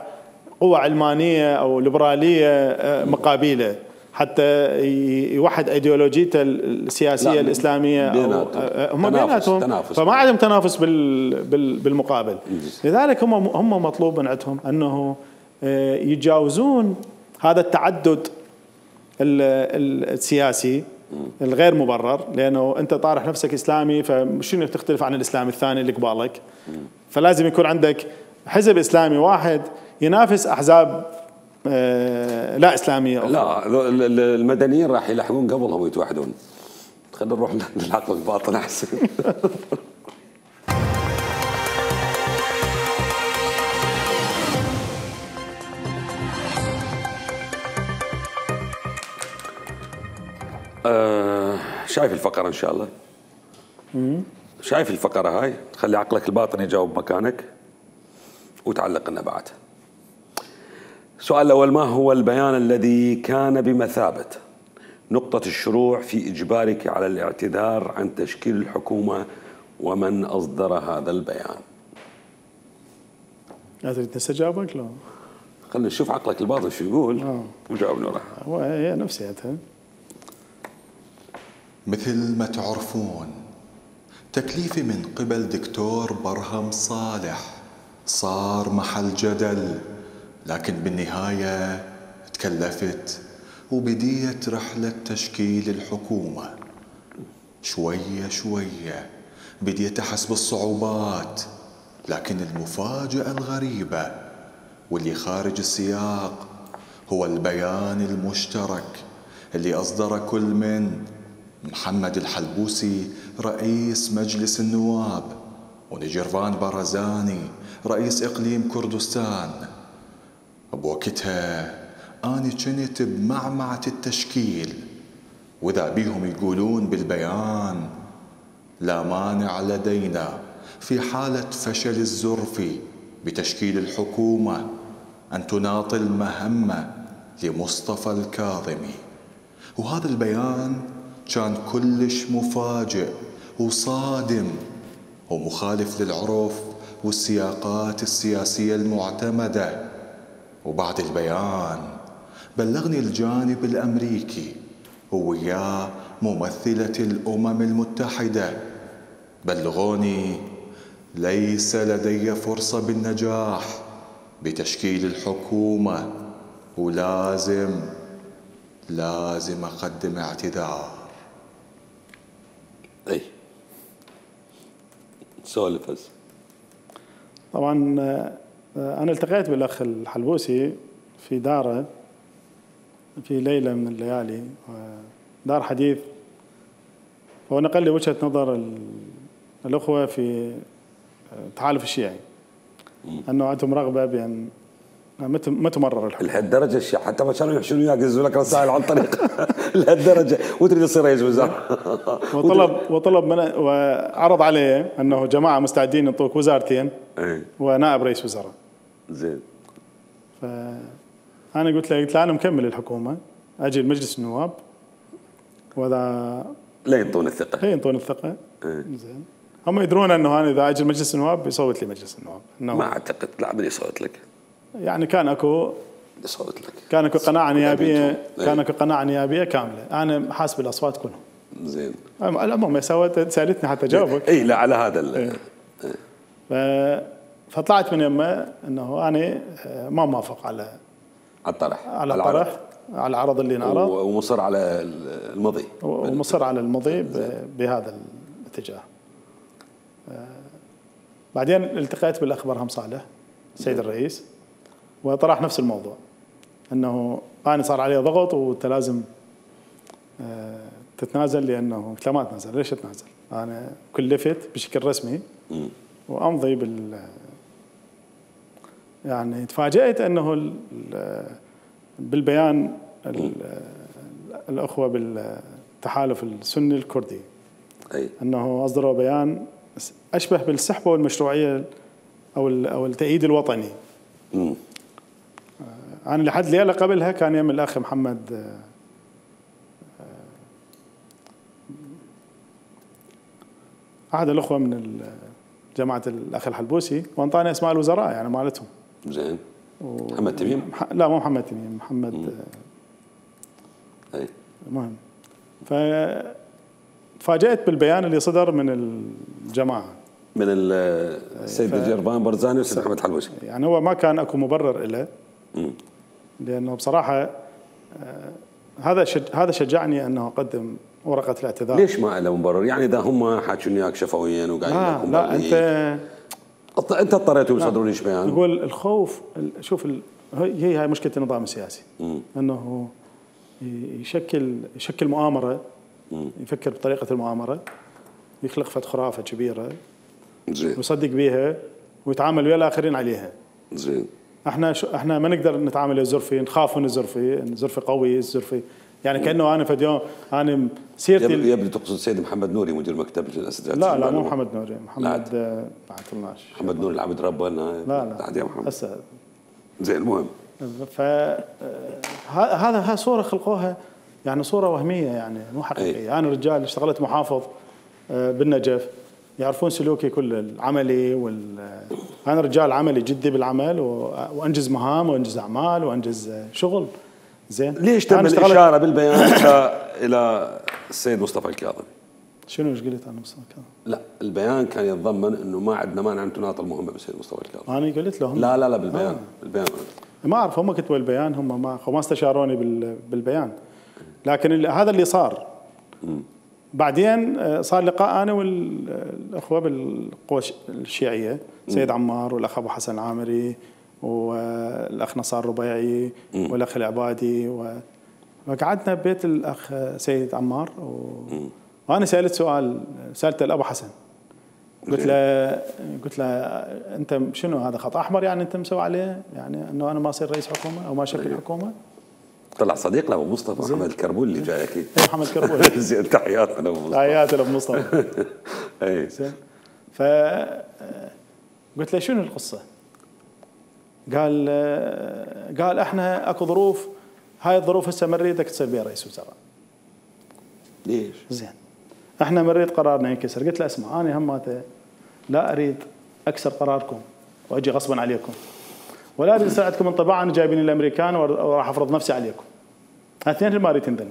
قوة علمانية او ليبراليه مقابله حتى يوحد ايديولوجيته السياسيه الاسلاميه. هم بيناتهم، فما عندهم تنافس بالمقابل. لذلك هم هم مطلوب من عندهم انه يتجاوزون هذا التعدد السياسي الغير مبرر، لانه انت طارح نفسك اسلامي فشنو تختلف عن الاسلام الثاني اللي قبالك، فلازم يكون عندك حزب اسلامي واحد ينافس احزاب لا اسلاميه أخرى. لا المدنيين راح يلحقون قبلهم ويتوحدون. خلينا نروح للعقل الباطن احسن. آه شايف الفقرة إن شاء الله؟ مم. شايف الفقرة هاي؟ خلي عقلك الباطن يجاوب مكانك وتعلق لنا بعد. السؤال الأول: ما هو البيان الذي كان بمثابة نقطة الشروع في إجبارك على الاعتذار عن تشكيل الحكومة، ومن أصدر هذا البيان؟ لا تريد نستجابك؟ لا خلينا نشوف عقلك الباطن شو يقول وجاوبنا وراه. هو هي نفسيتها. مثل ما تعرفون تكليفي من قبل دكتور برهم صالح صار محل جدل، لكن بالنهاية تكلفت وبديت رحلة تشكيل الحكومة. شوية شوية بديت أحس بالصعوبات، لكن المفاجأة الغريبة واللي خارج السياق هو البيان المشترك اللي أصدر كل من محمد الحلبوسي رئيس مجلس النواب ونجرفان برزاني رئيس إقليم كردستان. بوقتها أنا كنت بمعمعة التشكيل، وإذا بيهم يقولون بالبيان: لا مانع لدينا في حالة فشل الزرفي بتشكيل الحكومة أن تناطي المهمة لمصطفى الكاظمي. وهذا البيان كان كلش مفاجئ وصادم ومخالف للعرف والسياقات السياسية المعتمدة. وبعد البيان بلغني الجانب الأمريكي ووياه ممثلة الأمم المتحدة، بلغوني ليس لدي فرصة بالنجاح بتشكيل الحكومة، ولازم لازم أقدم اعتذار. اي سولف هسه. طبعا أنا التقيت بالأخ الحلبوسي في داره في ليلة من الليالي، دار حديث، هو نقل لي وجهة نظر الأخوة في التحالف الشيعي أنه عندهم رغبة بأن ما تمرر الحكم. لهالدرجة الشيعة حتى ما كانوا يحشون وياك ينزلوا لك رسائل عن طريق لهالدرجة وتريد تصير رئيس وزراء. وطلب وطلب من وعرض عليه أنه جماعة مستعدين ينطوك وزارتين ونائب رئيس وزراء. زين. فأنا قلت له قلت له أنا مكمل الحكومة، أجي لمجلس النواب وإذا لا ينطون الثقة. لا ينطون الثقة. زين. هم يدرون أنه أنا إذا أجي مجلس النواب بيصوت لي مجلس النواب. ما أعتقد لا من يصوت لك. يعني كان أكو يصوت لك. كان أكو قناعة نيابية، كان أكو قناعة نيابية كاملة. أنا حاسب الأصوات كلهم. زين. الأمم سوت سألتني حتى جاوبك. إيه لا على هذا ال. إيه. فطلعت من يمه أنه أنا ما موافق على على الطرح على الطرح على العرض اللي انعرض، ومصر على المضي ومصر على المضي بهذا الاتجاه. بعدين التقيت بالأخ برهم صالح السيد الرئيس وطرح نفس الموضوع، أنه أنا صار عليه ضغط وأنت لازم تتنازل، لأنه قلت له ما أتنازل. ليش أتنازل؟ أنا كلفت بشكل رسمي وأمضي بال يعني تفاجأت أنه بالبيان الأخوة بالتحالف السني الكردي أي. أنه أصدروا بيان أشبه بالسحبة والمشروعية أو أو التأييد الوطني. مم. أنا لحد ليلة قبلها كان يم الأخ محمد أحد الأخوة من جماعة الأخ الحلبوسي وانطاني أسماء الوزراء يعني مالتهم. زين. محمد تميم؟ لا مو محمد تميم، محمد مم. أي. المهم فتفاجأت بالبيان اللي صدر من الجماعة من السيد ف... جربان برزاني والسيد محمد حلبوسي. يعني هو ما كان اكو مبرر له، لانه بصراحة آه هذا شج... هذا شجعني انه اقدم ورقة الاعتذار. ليش ما له مبرر؟ يعني اذا هم حاكون وياك شفويا وقاعدين لا, لا انت انت اضطريتوا يصدرون ليش بيان؟ يقول الخوف، شوف ال... هي هاي مشكلة النظام السياسي. مم. انه يشكل يشكل مؤامرة، مم. يفكر بطريقة المؤامرة، يخلق فت خرافة كبيرة زين ويصدق بيها ويتعامل ويا الاخرين عليها. زين. احنا شو احنا ما نقدر نتعامل ويا الزرفي، نخاف من الزرفي، الزرفي قوي، الزرفي يعني مم. كانه انا فد يوم انا سيرتي يبدو, يبدو تقصد السيد محمد نوري مدير مكتب الاساتذه. لا لا مو محمد نوري، محمد ما عطلناش. محمد نوري العبد ربنا. لا لا بعد يا محمد هسه. زين المهم ف هذا ها صوره خلقوها يعني صوره وهميه يعني مو حقيقيه. أي. انا رجال اشتغلت محافظ بالنجف، يعرفون سلوكي كل العملي وال انا رجال عملي جدي بالعمل وانجز مهام وانجز اعمال وانجز شغل. زين ليش تم الاشاره بالبيان الى السيد مصطفى الكاظمي؟ شنو ايش قلت انا مصطفى الكاظمي؟ لا البيان كان يتضمن انه ما عندنا مانع ان تناط المهمه بالسيد مصطفى الكاظمي. انا قلت لهم لا لا لا بالبيان آه. بالبيان ما اعرف هم كتبوا البيان، هم ما ما استشاروني بالبيان، لكن هذا اللي صار. بعدين صار لقاء انا والاخوه بالقوى الشيعيه، سيد عمار والاخ ابو حسن العامري والاخ نصار ربيعي والاخ العبادي، وقعدنا ببيت الاخ سيد عمار وانا سالت سؤال، سالته لابو حسن، قلت له قلت له انت شنو هذا خط احمر يعني انت مسوي عليه، يعني انه انا ما اصير رئيس حكومه او ما اشكل حكومه؟ طلع صديق له ابو مصطفى محمد الكربول اللي جاي اكيد. اي محمد الكربول. زين تحياتنا لابو مصطفى. تحياتي لابو مصطفى. اي زين. ف قلت له شنو القصه؟ قال قال احنا اكو ظروف، هاي الظروف هسه ما نريدك تصير بها رئيس وزراء. ليش؟ زين. احنا ما نريد قرارنا ينكسر، قلت له اسمع انا هماته لا اريد اكسر قراركم واجي غصبا عليكم، ولا اريد يصير عندكم انطباع انا جايبين الامريكان وراح افرض نفسي عليكم. الاثنين اللي ما اريد تنذلني.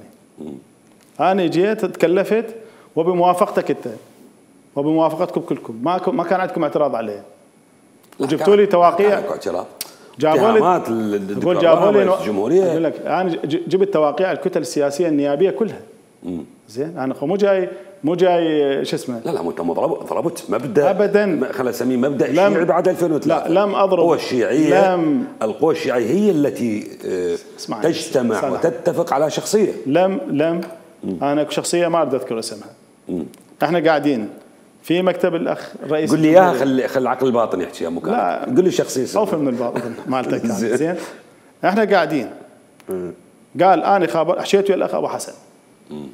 انا جيت تكلفت وبموافقتك انت وبموافقتكم كلكم، ما ما كان عندكم اعتراض عليه. وجبتوا لي تواقيع. جابوا لي اقول جابوا لي الجمهوريه. اقول لك انا جبت تواقيع الكتل السياسيه النيابيه كلها. مم. زين انا مو جاي مو جاي شو اسمه. لا لا انت ضربت مبدا ابدا، خلينا نسميه مبدا الشيعي بعد ألفين وثلاثة. لا لم اضرب القوى الشيعيه. لم القوى الشيعيه هي التي تجتمع صنع. وتتفق على شخصيه. لم لم مم. انا شخصيه ما اريد اذكر اسمها. مم. احنا قاعدين في مكتب الاخ الرئيس. قول لي اياها، خلي خلي العقل الباطن يحكي يا مكان. لا قول لي شخصيه خوف من الباطن مالتك. زين احنا قاعدين. مم. قال انا خابر حكيت ويا الاخ ابو حسن. مم.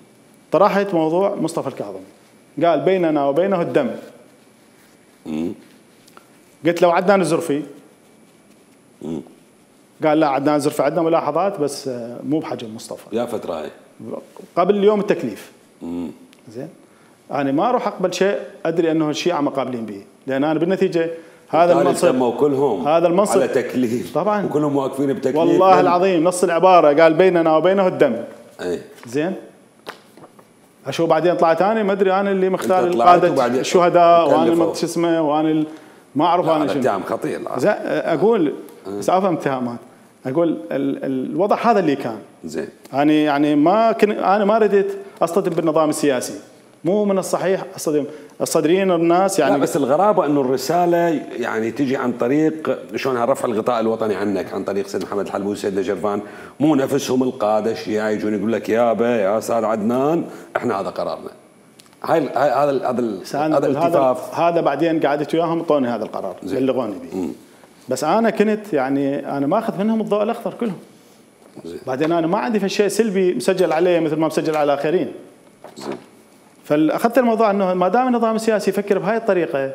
طرحت موضوع مصطفى الكاظمي، قال بيننا وبينه الدم. مم. قلت له عدنان الزرفي. مم. قال لا عدنان الزرفي عندنا ملاحظات بس مو بحجم مصطفى. يا فتره هاي قبل اليوم التكليف. مم. زين انا ما اروح اقبل شيء ادري انه الشيعه ما قابلين به، لان انا بالنتيجه هذا المنصب كلهم هذا المنصب على تكليف طبعا وكلهم واقفين بتكليف. والله من... العظيم نص العباره قال بيننا وبينه الدم. اي زين اشو بعدين طلعت انا ما ادري انا اللي مختار القاده الشهداء وانا ما شو اسمه وانا ما اعرف انا شنو. اتهام خطير. اقول بس افهم اتهامات، اقول ال... الوضع هذا اللي كان. زين انا يعني ما كن انا ما رديت اصطدم بالنظام السياسي، مو من الصحيح اصطدم الصدريين الناس يعني. لا بس الغرابه انه الرساله يعني تجي عن طريق شلونها رفع الغطاء الوطني عنك، عن طريق سيد محمد الحلبوي والسيد نجرفان، مو نفسهم القاده الشيعي يجون يقول لك يابا يا استاذ عدنان احنا هذا قرارنا. هاي هذا هذا هذا الالتفاف هذا بعدين قعدت وياهم اعطوني هذا القرار بلغوني به. بس انا كنت يعني انا ماخذ منهم الضوء الاخضر كلهم. زي. بعدين انا ما عندي في شيء سلبي مسجل علي مثل ما مسجل على اخرين. زين. فاخذت الموضوع انه ما دام النظام السياسي يفكر بهاي الطريقه،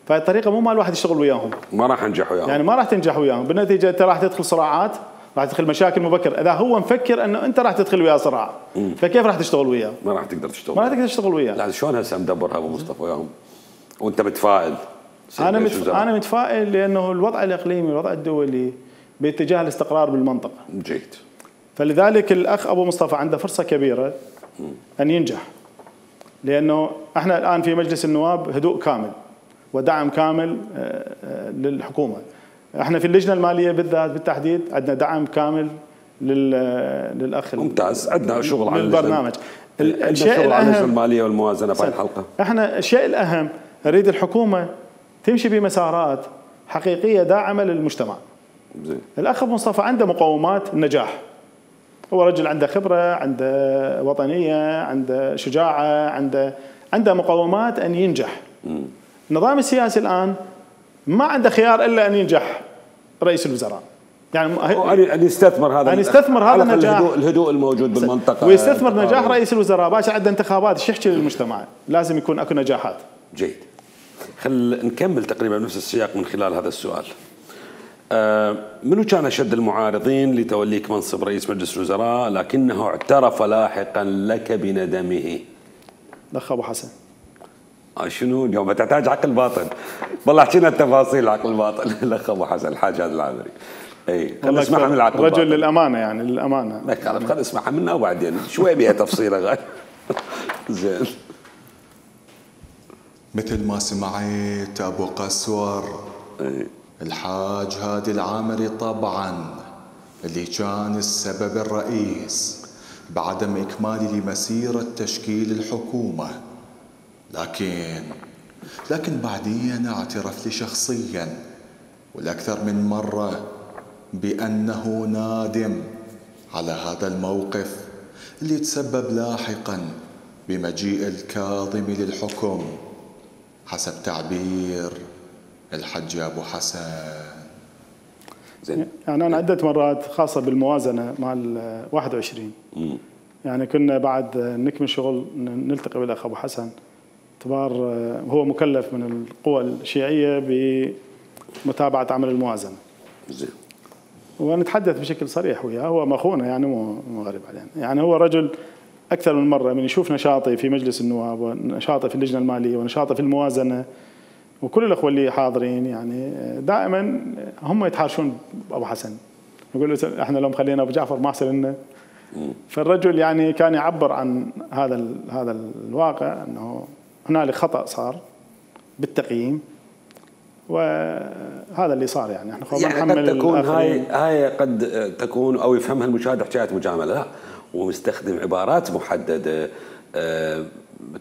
فهي الطريقه مو مال الواحد يشتغل وياهم. ما راح انجح وياهم. يعني ما راح تنجح وياهم، بالنتيجه انت راح تدخل صراعات، راح تدخل مشاكل مبكر، اذا هو مفكر انه انت راح تدخل وياه صراع، مم. فكيف راح تشتغل وياه؟ ما راح تقدر تشتغل. ما راح تقدر تشتغل وياه. لا شلون هسه مدبرها ابو مصطفى وياهم؟ وانت متفائل؟ انا متف... انا متفائل لانه الوضع الاقليمي الوضع الدولي باتجاه الاستقرار بالمنطقه. جيد. فلذلك الاخ ابو مصطفى عنده فرصه كبيره مم. ان ينجح. لانه احنا الان في مجلس النواب هدوء كامل ودعم كامل للحكومه. احنا في اللجنه الماليه بالذات بالتحديد عندنا دعم كامل للاخ. ممتاز، عندنا شغل على البرنامج. الشيء الاهم على اللجنه الماليه والموازنه في الحلقه. احنا الشيء الاهم نريد الحكومه تمشي بمسارات حقيقيه داعمه للمجتمع. زي. الاخ ابو مصطفى عنده مقومات النجاح. هو رجل عنده خبره، عنده وطنيه، عنده شجاعه، عنده عنده مقومات ان ينجح. م. النظام السياسي الان ما عنده خيار الا ان ينجح رئيس الوزراء. يعني ان يستثمر هذا ان يستثمر هذا النجاح، الهدوء, الهدوء الموجود بالمنطقه، ويستثمر نجاح رئيس الوزراء. باشا عنده انتخابات، ايش يحكي للمجتمع؟ لازم يكون اكو نجاحات. جيد. خل نكمل تقريبا نفس السياق من خلال هذا السؤال. آه منو كان اشد المعارضين لتوليك منصب رئيس مجلس الوزراء لكنه اعترف لاحقا لك بندمه؟ الاخ ابو حسن. آه شنو اليوم تحتاج عقل باطن. والله احكي لنا التفاصيل عقل باطن. الاخ ابو حسن الحاج هذا العامري. اي خلينا نسمعها من العقل رجل للامانه يعني للامانه. ما خالف خلينا نسمعها منه وبعدين شوي بيها تفصيله غير. زين. مثل ما سمعت ابو قسور. اي. الحاج هادي العامري طبعا اللي كان السبب الرئيس بعدم إكمال لمسيرة تشكيل الحكومة. لكن لكن بعدين اعترف لي شخصيا والأكثر من مرة بأنه نادم على هذا الموقف اللي تسبب لاحقا بمجيء الكاظم للحكم حسب تعبير الحج أبو حسن. زين. يعني أنا عدة مرات خاصة بالموازنة مع واحد وعشرين م. يعني كنا بعد نكمل شغل نلتقي بالأخ أبو حسن اعتبار هو مكلف من القوى الشيعية بمتابعة عمل الموازنة. زين. ونتحدث بشكل صريح وياه، هو مخونا يعني مو غريب علينا، يعني هو رجل أكثر من مرة من يشوف نشاطي في مجلس النواب ونشاطي في اللجنة المالية ونشاطي في الموازنة وكل الأخوة اللي حاضرين يعني دائما هم يتحاشون أبو حسن، يقولوا احنا لو مخلينا أبو جعفر ما أحسن لنا. فالرجل يعني كان يعبر عن هذا هذا الواقع أنه هنالك خطأ صار بالتقييم وهذا اللي صار. يعني احنا يعني قد تكون هاي هاي قد تكون او يفهمها المشاهد حكايه مجامله، لا ومستخدم عبارات محدده أه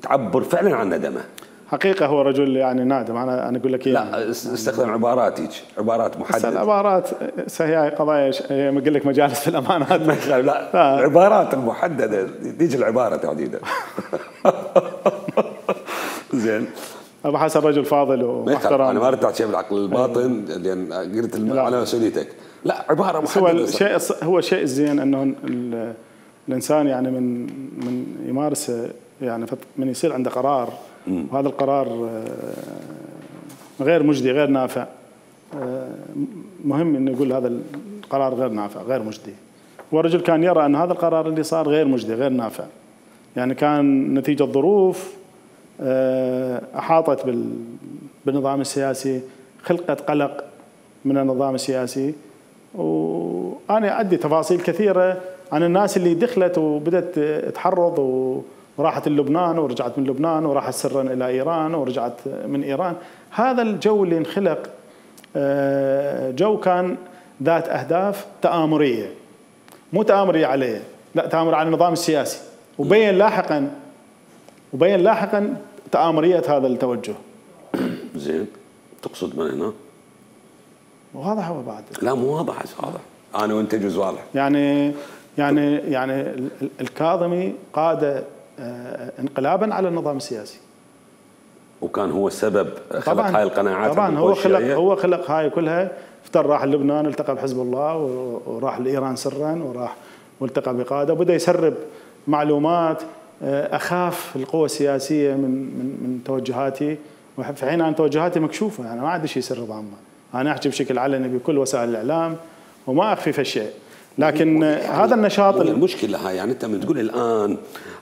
تعبر فعلا عن ندمه. حقيقه هو رجل يعني نادم. انا انا اقول لك لا يعني استخدم عبارات هيك عبارات محدده. العبارات هي قضايا ما اقول لك مجالس في الامانات لا, لا العبارات المحدده تيجي العباره تحديدا. زين. ابو حسن رجل فاضل ومحترم. انا ما اريد احكي بالعقل الباطن لان قلت على مسؤوليتك. لا عباره محدده. هو الشيء هو الشيء الزين انه الانسان يعني من من يمارس يعني من يصير عنده قرار م. وهذا القرار غير مجدي غير نافع. مهم انه يقول هذا القرار غير نافع غير مجدي. والرجل كان يرى ان هذا القرار اللي صار غير مجدي غير نافع. يعني كان نتيجه ظروف أحاطت بالنظام السياسي، خلقت قلق من النظام السياسي. وأنا عندي تفاصيل كثيرة عن الناس اللي دخلت وبدأت تحرض وراحت لبنان ورجعت من لبنان وراحت سرا إلى إيران ورجعت من إيران. هذا الجو اللي انخلق جو كان ذات أهداف تآمرية، مو تآمرية عليه، لا تآمر على النظام السياسي. وبين لاحقا وبين لاحقا تآمرية هذا التوجه. زين تقصد من هنا؟ واضح هو بعد؟ لا مو واضح، واضح انا وانت جزء واضح. يعني يعني يعني الكاظمي قاد انقلابا على النظام السياسي. وكان هو السبب خلق هاي القناعات. طبعا هو خلق هو خلق هاي كلها. افتر راح لبنان التقى بحزب الله وراح لايران سرا وراح والتقى بقاده وبدا يسرب معلومات اخاف القوى السياسيه من من من توجهاتي، وفي حين انا توجهاتي مكشوفه. انا ما عندي شيء سر ضامه، انا احكي بشكل علني بكل وسائل الاعلام وما اخفي في الشيء. لكن يعني هذا النشاط المشكله هاي يعني انت من تقول الان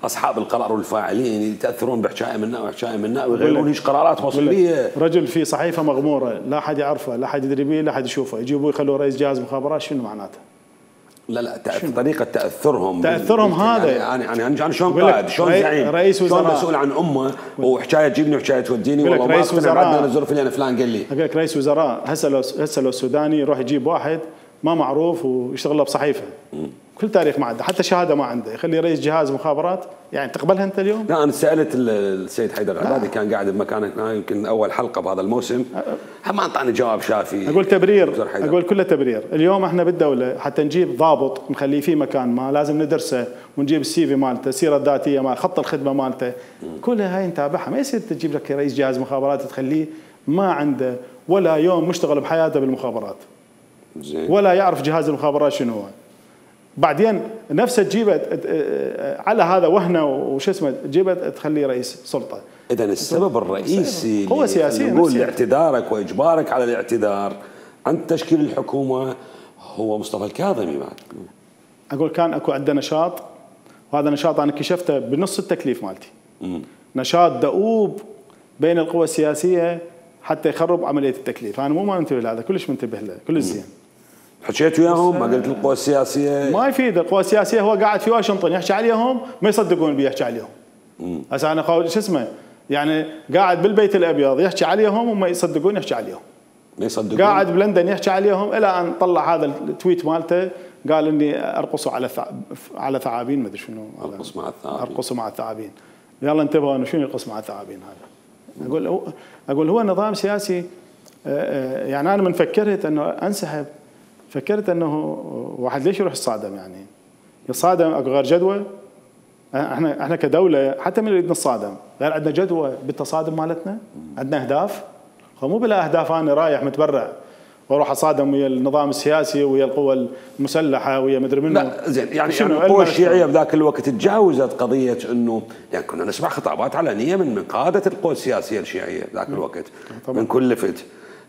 اصحاب القرار والفاعلين يتاثرون بحكايه منا وحكايه منا ويغيرون هيك قرارات مصيريه. رجل في صحيفه مغموره لا احد يعرفه لا احد يدري به لا احد يشوفه، يجيبوه يخلوه رئيس جهاز مخابرات. شنو معناته؟ لا لا طريقة تأثرهم تأثرهم هذا يعني يعني يعني شلون قائد شلون زعيم رئيس وزراء شلون مسؤول عن أمة وحكاية تجيبني وحكاية توديني والله ما أقتنع بعدنا الظروف اللي أنا فلان قال لي. أقول لك رئيس وزراء هسه لو هسه لو السوداني يروح يجيب واحد ما معروف ويشتغل له بصحيفة م. كل تاريخ ما عنده حتى شهادة ما عنده يخلي رئيس جهاز مخابرات. يعني تقبلها أنت اليوم؟ لا أنا سألت السيد حيدر العبادي كان قاعد بمكانك يمكن أول حلقة بهذا الموسم ما أعطاني جواب شافي. أقول تبرير أقول كله تبرير. اليوم إحنا بالدولة حتى نجيب ضابط نخليه في مكان ما لازم ندرسه ونجيب السي في مالته السيرة الذاتية مال خط الخدمة مالته كلها هاي نتابعها. ما يصير تجيب لك رئيس جهاز مخابرات تخليه ما عنده ولا يوم مشتغل بحياته بالمخابرات زين. ولا يعرف جهاز المخابرات شنو هو. بعدين نفسه تجيبه على هذا وهنه وش اسمه تجيبه تخليه رئيس سلطه. اذا السبب الرئيسي قوة سياسية نقول لاعتذارك واجبارك على الاعتذار عن تشكيل الحكومه هو مصطفى الكاظمي. بعد اقول كان اكو عندنا نشاط وهذا النشاط انا كشفته بنص التكليف مالتي. م. نشاط دؤوب بين القوى السياسيه حتى يخرب عمليه التكليف. انا مو ما منتبه لهذا كلش منتبه له كل زين. حكيت وياهم ما قلت القوى السياسيه ما يفيد. القوى السياسيه هو قاعد في واشنطن يحكي عليهم ما يصدقون بيه يحكي عليهم. هسه انا شو اسمه يعني قاعد بالبيت الابيض يحكي عليهم وما يصدقون يحكي عليهم. ما يصدقون. قاعد بلندن يحكي عليهم الى ان طلع هذا التويت مالته قال اني ارقصوا على على ثعابين، ما ادري شنو ارقص مع الثعابين، ارقصوا مع الثعابين. يلا انتبهوا انه شنو يرقص مع الثعابين هذا. اقول اقول هو نظام سياسي. يعني انا من فكرت انه انسحب فكرت انه واحد ليش يروح يصادم؟ يعني يصادم اكو غير جدوى؟ احنا احنا كدوله حتى من نريد نصادم غير عندنا جدوى بالتصادم مالتنا؟ عندنا اهداف؟ مو بلا اهداف انا رايح متبرع واروح اصادم ويا النظام السياسي ويا القوى المسلحه ويا مدري منه. لا زين يعني, يعني القوى الشيعيه بذاك الوقت تجاوزت قضيه انه يعني كنا نسمع خطابات علنيه من من قاده القوى السياسيه الشيعيه ذاك الوقت طبعا. من كل لفت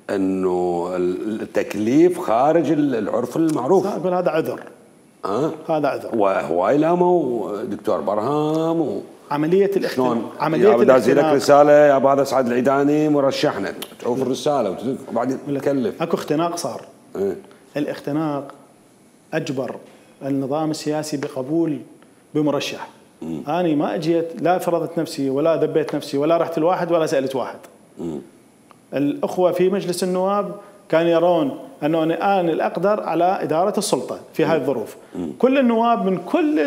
انه التكليف خارج العرف المعروف. اقول هذا عذر. أه؟ هذا عذر. وهواي لاموا دكتور برهام و عمليه الاختناق عمليه الاختناق لك رساله يا ابو هذا سعد العيداني مرشحنا تشوف الرساله وبعدين تكلف. اكو اختناق صار. أه؟ الاختناق اجبر النظام السياسي بقبول بمرشح. م. انا ما اجيت لا فرضت نفسي ولا ذبيت نفسي ولا رحت الواحد ولا سالت واحد. م. الاخوه في مجلس النواب كانوا يرون انه انا الاقدر على اداره السلطه في هذه الظروف. كل النواب من كل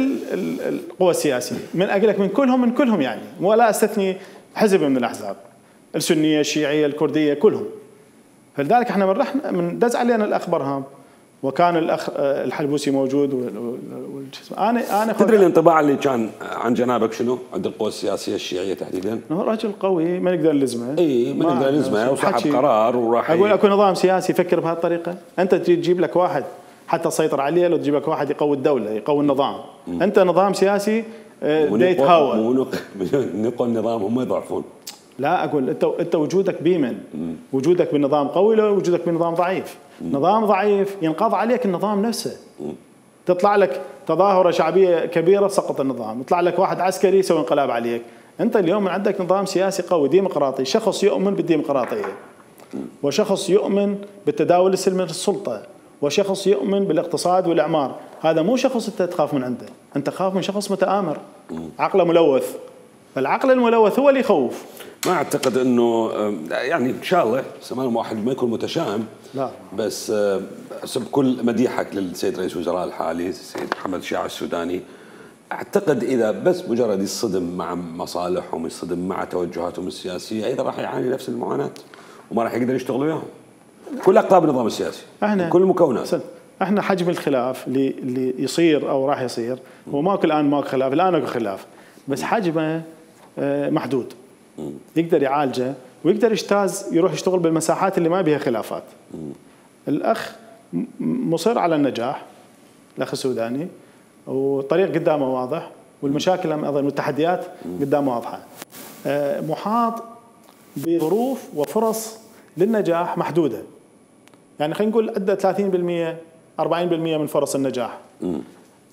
القوى السياسيه، من اقول لك من كلهم من كلهم يعني، ولا استثني حزب من الاحزاب، السنيه، الشيعيه، الكرديه، كلهم. فلذلك احنا من رحنا من دز علينا الاخ برهام وكان الاخ الحلبوسي موجود انا انا تدري الانطباع اللي كان عن جنابك شنو عند القوى السياسيه الشيعيه تحديدا؟ انه رجل قوي ما نقدر نلزمه. اي ما نقدر نلزمه وصاحب قرار وراح. اقول اكو نظام سياسي يفكر بهالطريقه، انت تجي تجيب لك واحد حتى تسيطر عليه، لو تجيب لك واحد يقوي الدوله يقوي النظام. م. انت نظام سياسي يتهاوى. مو نقوى النظام هم يضعفون. لا اقول انت انت وجودك بيمن، م. وجودك بنظام قوي لو وجودك بنظام ضعيف. م. نظام ضعيف ينقض عليك النظام نفسه. م. تطلع لك تظاهره شعبيه كبيره سقط النظام، يطلع لك واحد عسكري يسوي انقلاب عليك. انت اليوم عندك نظام سياسي قوي ديمقراطي، شخص يؤمن بالديمقراطيه وشخص يؤمن بالتداول السلمي للسلطه وشخص يؤمن بالاقتصاد والاعمار. هذا مو شخص انت تخاف من عنده، انت تخاف من شخص متآمر عقله ملوث. فالعقل الملوث هو اللي يخوف. ما اعتقد انه يعني ان شاء الله سمان واحد ما يكون متشائم، لا بس بكل مديحك للسيد رئيس الوزراء الحالي السيد محمد شياع السوداني، اعتقد اذا بس مجرد يصطدم مع مصالحهم يصطدم مع توجهاتهم السياسيه ايضا راح يعاني نفس المعاناه وما راح يقدر يشتغل وياهم. كل اقطاب النظام السياسي احنا كل المكونات. احنا حجم الخلاف اللي اللي يصير او راح يصير هو ماكو الان ماكو خلاف، الان اكو خلاف بس حجمه محدود. يقدر يعالجه ويقدر يجتاز يروح يشتغل بالمساحات اللي ما بها خلافات. الاخ مصر على النجاح، الاخ السوداني، والطريق قدامه واضح والمشاكل ايضا والتحديات قدامه واضحه. محاط بظروف وفرص للنجاح محدوده. يعني خلينا نقول عنده ثلاثين بالمئة أربعين بالمئة من فرص النجاح.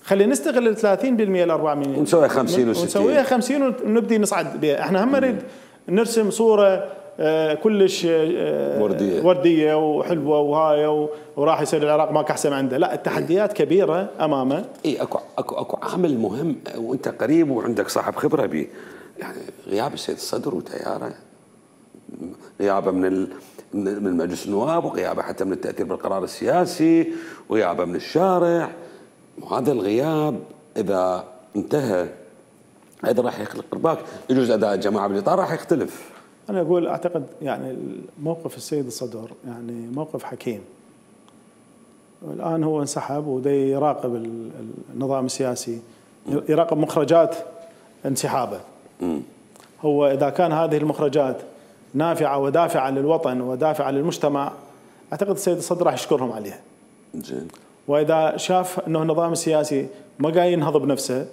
خلينا نستغل ال ثلاثين بالمئة ال أربعين بالمئة ونسويها خمسين وستين ونسويها خمسين ونبدي نصعد بها. احنا هم نريد نرسم صوره كلش ورديه ورديه وحلوه وهاي وراح يصير العراق ماك احسن عنده. لا، التحديات كبيره امامه. اي اكو اكو اكو عامل مهم وانت قريب وعندك صاحب خبره به، يعني غياب السيد الصدر وتياره، غيابه من من مجلس النواب وغيابه حتى من التاثير بالقرار السياسي وغيابه من الشارع. وهذا الغياب اذا انتهى ايضا راح يخلق ارباك، يجوز اداء الجماعه بالاطار راح يختلف. انا اقول اعتقد يعني موقف السيد الصدر يعني موقف حكيم. الان هو انسحب ودي يراقب النظام السياسي، يراقب مخرجات انسحابه. هو اذا كان هذه المخرجات نافعه ودافعه للوطن ودافعه للمجتمع اعتقد السيد الصدر راح يشكرهم عليها. زين. واذا شاف انه النظام السياسي ما جاي ينهض بنفسه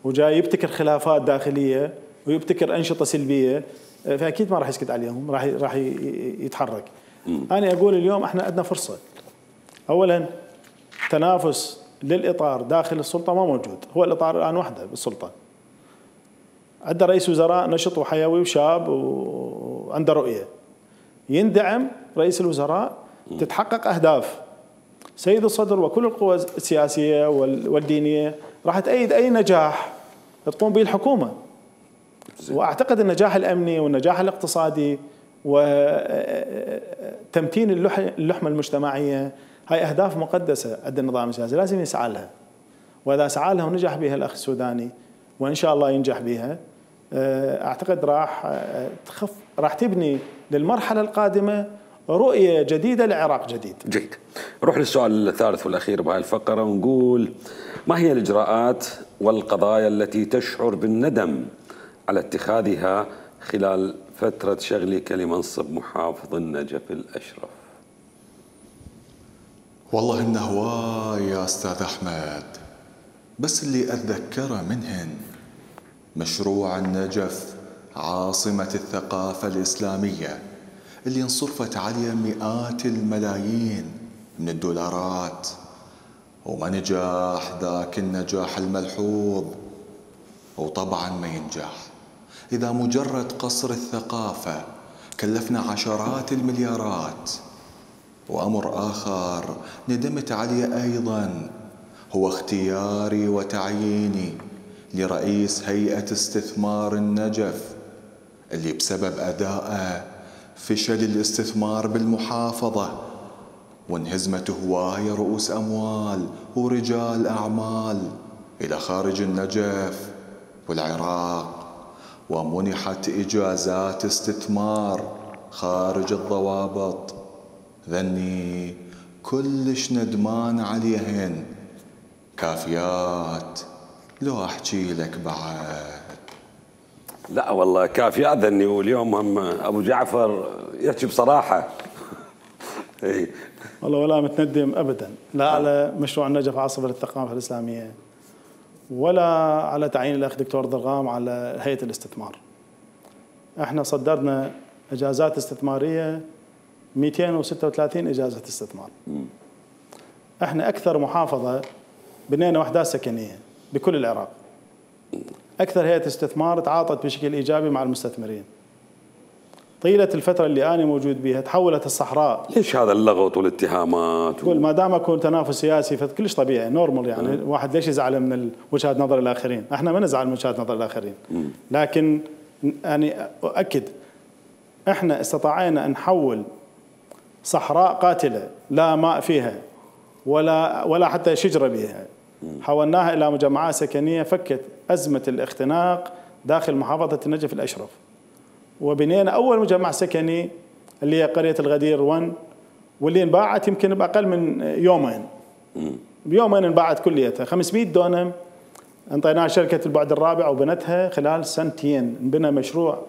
وجاي يبتكر خلافات داخليه ويبتكر انشطه سلبيه، فاكيد ما راح يسكت عليهم، راح راح يتحرك. م. انا اقول اليوم احنا عندنا فرصه. اولا تنافس للاطار داخل السلطه ما موجود، هو الاطار الان وحده بالسلطه. عنده رئيس وزراء نشط وحيوي وشاب وعنده رؤيه. يندعم رئيس الوزراء، تتحقق اهداف. سيد الصدر وكل القوى السياسيه والدينيه راح تأيد اي نجاح تقوم به الحكومه. واعتقد النجاح الامني والنجاح الاقتصادي وتمتين اللحمة المجتمعية، هاي أهداف مقدسة عند النظام السياسي لازم يسعى لها. وإذا سعى لها ونجح بها الأخ السوداني وإن شاء الله ينجح بها، أعتقد راح تخف راح تبني للمرحلة القادمة رؤية جديدة لعراق جديد. جيد. نروح للسؤال الثالث والأخير بهاي الفقرة ونقول: ما هي الإجراءات والقضايا التي تشعر بالندم على اتخاذها خلال فترة شغلك لمنصب محافظ النجف الأشرف؟ والله إنه هواي يا أستاذ أحمد، بس اللي أتذكره منهن مشروع النجف عاصمة الثقافة الإسلامية اللي انصرفت عليه مئات الملايين من الدولارات، وما نجاح ذاك النجاح الملحوظ. وطبعا ما ينجح إذا مجرد قصر الثقافة كلفنا عشرات المليارات. وأمر آخر ندمت عليه أيضا هو اختياري وتعييني لرئيس هيئة استثمار النجف، اللي بسبب أدائه فشل الاستثمار بالمحافظة وانهزمت هواية رؤوس أموال ورجال أعمال إلى خارج النجف والعراق، ومنحت إجازات استثمار خارج الضوابط. ذني كلش ندمان عليهن، كافيات لو أحكي لك بعد. لا والله كافيات ذني، واليوم هم أبو جعفر يحكي بصراحة. اي والله ولا متندم أبدا، لا على مشروع النجف عاصمة للثقافة الإسلامية ولا على تعيين الأخ دكتور ضرغام على هيئة الاستثمار. احنا صدرنا إجازات استثمارية مئتين وستة وثلاثين إجازة استثمار. احنا أكثر محافظة بنينا وحدات سكنية بكل العراق. أكثر هيئة استثمار تعاطت بشكل إيجابي مع المستثمرين. طيلة الفترة اللي أنا موجود بها تحولت الصحراء. ليش هذا اللغط والاتهامات؟ تقول ما دام أكون تنافس سياسي فكلش طبيعي نورمال، يعني أه. واحد ليش يزعل من وجهة نظر الآخرين؟ احنا ما نزعل من وجهة نظر الآخرين. م. لكن يعني أؤكد احنا استطعنا أن نحول صحراء قاتلة لا ماء فيها ولا ولا حتى شجرة بها، حولناها إلى مجمعات سكنية فكت أزمة الاختناق داخل محافظة النجف الأشرف. وبنينا أول مجمع سكني اللي هي قرية الغدير واحد، واللي انباعت يمكن بأقل من يومين. بيومين انباعت كليتها، خمسمئة دونم انطيناها شركة البعد الرابع وبنتها خلال سنتين. انبنى مشروع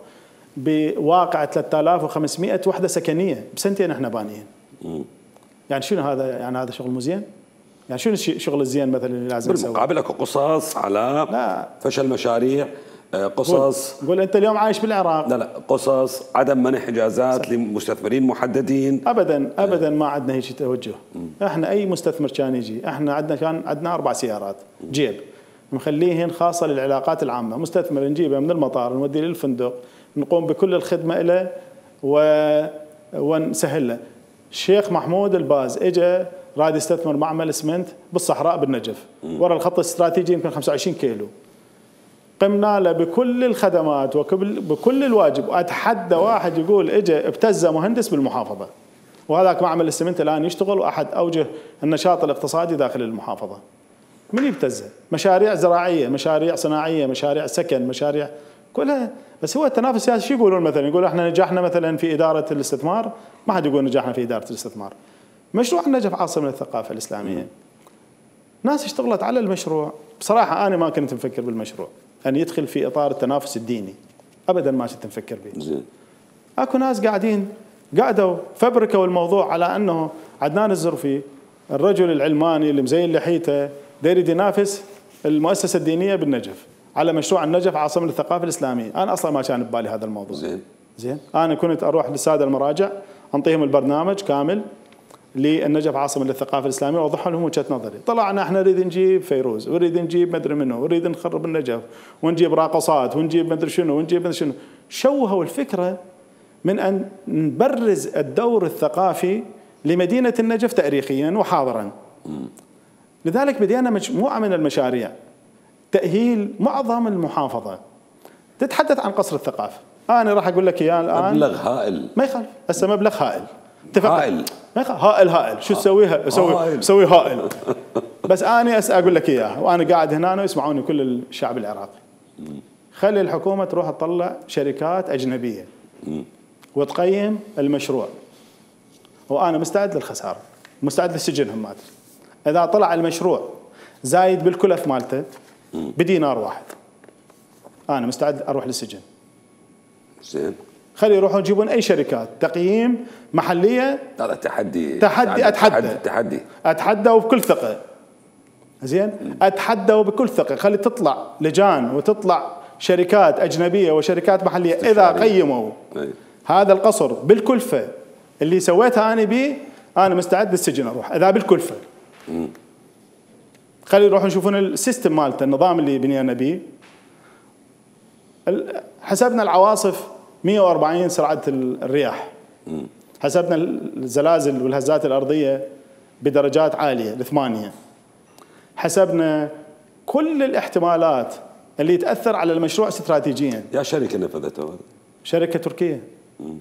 بواقع ثلاثة آلاف وخمسمئة وحدة سكنية بسنتين احنا بانيين. يعني شنو هذا؟ يعني هذا شغل مزين؟ يعني شنو الشغل الزين مثلا اللي لازم نسويه؟ بالمقابل اكو قصص على لا. فشل مشاريع، قصص قول انت اليوم عايش بالعراق. لا لا قصص عدم منح اجازات صح. لمستثمرين محددين. ابدا ابدا ما عندنا هيك توجه. احنا اي مستثمر كان يجي، احنا عندنا كان عندنا اربع سيارات جيب مخليهن خاصه للعلاقات العامه. مستثمر نجيبه من المطار نوديه للفندق، نقوم بكل الخدمه له و... ونسهل له. الشيخ محمود الباز اجى راد يستثمر معمل اسمنت بالصحراء بالنجف ورا الخط الاستراتيجي يمكن خمسة وعشرين كيلو. قمنا له بكل الخدمات وبكل الواجب. واتحدى واحد يقول اجى ابتزه مهندس بالمحافظه، وهذاك معمل الاسمنت الان يشتغل واحد اوجه النشاط الاقتصادي داخل المحافظه. من يبتزه؟ مشاريع زراعيه، مشاريع صناعيه، مشاريع سكن، مشاريع كلها. بس هو التنافس السياسي شو يقولون مثلا؟ يقول احنا نجحنا مثلا في اداره الاستثمار. ما حد يقول نجحنا في اداره الاستثمار. مشروع النجف عاصمة للثقافة الإسلامية، ناس اشتغلت على المشروع. بصراحة أنا ما كنت مفكر بالمشروع أن يدخل في إطار التنافس الديني، أبدا ما كنت مفكر به. أكو ناس قاعدين قاعدوا فبركوا الموضوع على أنه عدنان الزرفي الرجل العلماني اللي مزين لحيته داير ينافس المؤسسة الدينية بالنجف على مشروع النجف عاصمة للثقافة الإسلامية. أنا أصلا ما كان ببالي هذا الموضوع. زين زين أنا كنت أروح للسادة المراجع أنطيهم البرنامج كامل للنجف عاصمة للثقافة الإسلامية وأوضح لهم وجهة نظري. طلعنا احنا نريد نجيب فيروز ونريد نجيب مدري منه ونريد نخرب النجف ونجيب راقصات ونجيب مدري شنو ونجيب مدري شنو. شوهوا الفكرة من أن نبرز الدور الثقافي لمدينة النجف تاريخيا وحاضرا. لذلك بدينا مجموعة من المشاريع تأهيل معظم المحافظة. تتحدث عن قصر الثقافة انا راح اقول لك اياه الان. مبلغ هائل. ما يخالف، هسه مبلغ هائل. اتفقنا. هائل. ما يخالف، هائل هائل، شو تسويها؟ اسوي اسوي هائل. بس انا اقول لك اياه، وانا قاعد هنا ويسمعوني كل الشعب العراقي. خلي الحكومه تروح تطلع شركات اجنبيه وتقيم المشروع. وانا مستعد للخساره، مستعد للسجن همات. اذا طلع المشروع زايد بالكلف مالته بدينار واحد، انا مستعد اروح للسجن. زين. خلي يروحون يجيبون اي شركات تقييم محليه. هذا تحدي. تحدي اتحدى. تحدي. اتحدى وبكل ثقه. زين؟ اتحدى وبكل ثقه، خلي تطلع لجان وتطلع شركات اجنبيه وشركات محليه اذا قيموا أي. هذا القصر بالكلفه اللي سويتها انا بيه، انا مستعد للسجن اروح اذا بالكلفه. مم. خلي يروحون يشوفون السيستم مالته، النظام اللي بنينا بيه. حسبنا العواصف مئة وأربعين سرعه الرياح. مم. حسبنا الزلازل والهزات الارضيه بدرجات عاليه لثمانيه. حسبنا كل الاحتمالات اللي تاثر على المشروع استراتيجيا. يا شركه نفذته هذا؟ شركه تركيه. مم.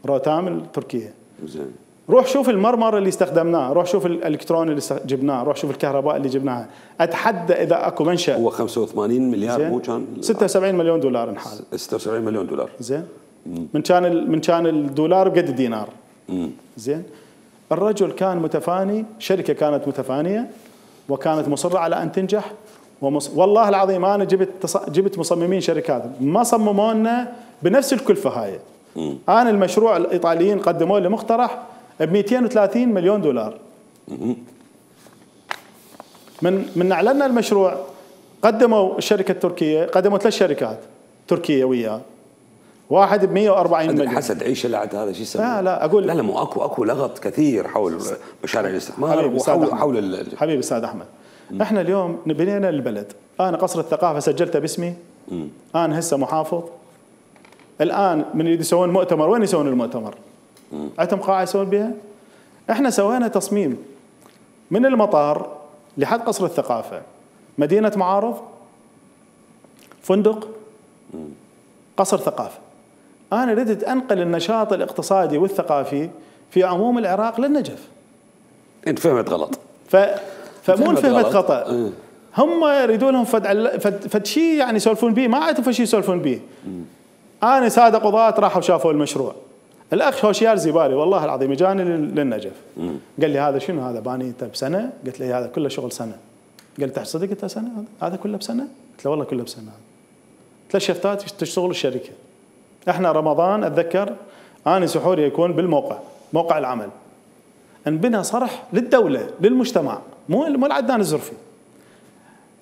روتام التركيه. زين. روح شوف المرمر اللي استخدمناه، روح شوف الالكترون اللي جبناه، روح شوف الكهرباء اللي جبناها. اتحدى اذا اكو منشأ. هو خمسة وثمانين مليار مو كان؟ ستة وسبعين مليون دولار انحال. ستة وسبعين مليون دولار. زين. من كان من كان الدولار بقد الدينار. مم. زين. الرجل كان متفاني، شركه كانت متفانيه وكانت مصره على ان تنجح. ومص... والله العظيم انا جبت تص... جبت مصممين شركات ما صمموا لنا بنفس الكلفه هاي. مم. انا المشروع الايطاليين قدموا لي مقترح ب مئتين وثلاثين مليون دولار. مم. من من اعلنا المشروع قدموا الشركه التركيه، قدموا ثلاث شركات تركيه وياه. واحد ب مئة وأربعين مليون. حسد عيشه لعد هذا شو يسمى؟ لا لا اقول لا لا مو اكو اكو لغط كثير حول مشاريع الاستثمار وحول حول ال... حبيبي استاذ احمد. مم. احنا اليوم بنينا البلد، انا قصر الثقافه سجلته باسمي. مم. انا هسه محافظ. الان من يريد يسوون مؤتمر، وين يسوون المؤتمر؟ مم. عندهم قاعه يسوون بها؟ احنا سوينا تصميم من المطار لحد قصر الثقافه، مدينه معارض، فندق، مم. قصر ثقافه. انا ردت انقل النشاط الاقتصادي والثقافي في عموم العراق للنجف. انت فهمت غلط. ف فمو فهمت خطا. اه. هم يريدون لهم فد فد, فد شيء يعني يسولفون به، ما عندهم شيء يسولفون به. انا ساده قضاة راحوا شافوا المشروع. الاخ هوشيار زيباري والله العظيم اجاني للنجف. مم. قال لي هذا شنو هذا باني انت بسنه؟ قلت له هذا كله شغل سنه. قال لي صدق انت سنه هذا؟ هذا كله بسنه؟ قلت له والله كله بسنه. ثلاث شفتات تشتغل الشركه. احنا رمضان اتذكر اني سحوري يكون بالموقع، موقع العمل. انبنى صرح للدوله للمجتمع، مو مو العدنان الزرفي.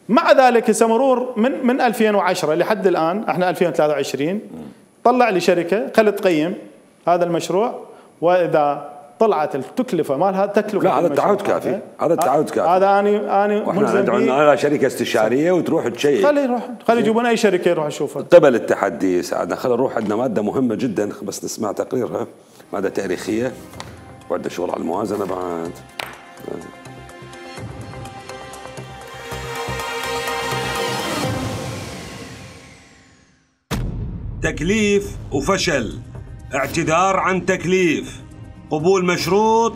مع ذلك هسه مرور من من ألفين وعشرة لحد الان احنا ألفين وثلاثة وعشرين طلع لي شركه خلت تقيم هذا المشروع، واذا طلعت التكلفه مالها تكلفه. لا هذا التعهد كافي، هذا التعهد كافي. هذا اني اني واحنا ندعو على شركه استشاريه وتروح تشيك. خلي يروح، خلي يجيبون اي شركه يروح يشوفها. قبل التحدي سعدنا، خلينا نروح، عندنا ماده مهمه جدا بس نسمع تقريرها، ماده تاريخيه وعندنا شغل على الموازنه بعد. تكليف وفشل، اعتذار عن تكليف، قبول مشروط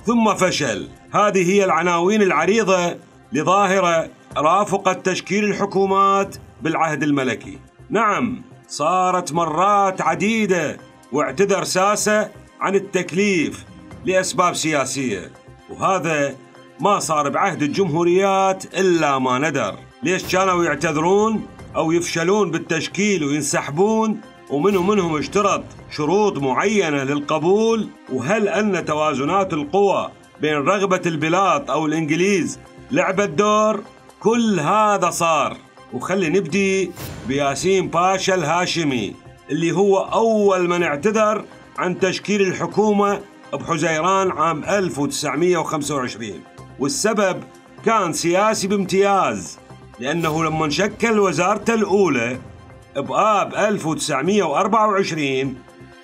ثم فشل. هذه هي العناوين العريضة لظاهرة رافقت تشكيل الحكومات بالعهد الملكي. نعم صارت مرات عديدة واعتذر ساسة عن التكليف لأسباب سياسية، وهذا ما صار بعهد الجمهوريات إلا ما ندر. ليش كانوا يعتذرون أو يفشلون بالتشكيل وينسحبون؟ ومنهم منهم اشترط شروط معينة للقبول؟ وهل أن توازنات القوى بين رغبة البلاد أو الإنجليز لعبت دور؟ كل هذا صار. وخلي نبدي بياسين باشا الهاشمي اللي هو أول من اعتذر عن تشكيل الحكومة بحزيران عام ألف وتسعمئة وخمسة وعشرين، والسبب كان سياسي بامتياز، لأنه لما شكل وزارته الأولى بآب ألف وتسعمئة وأربعة وعشرين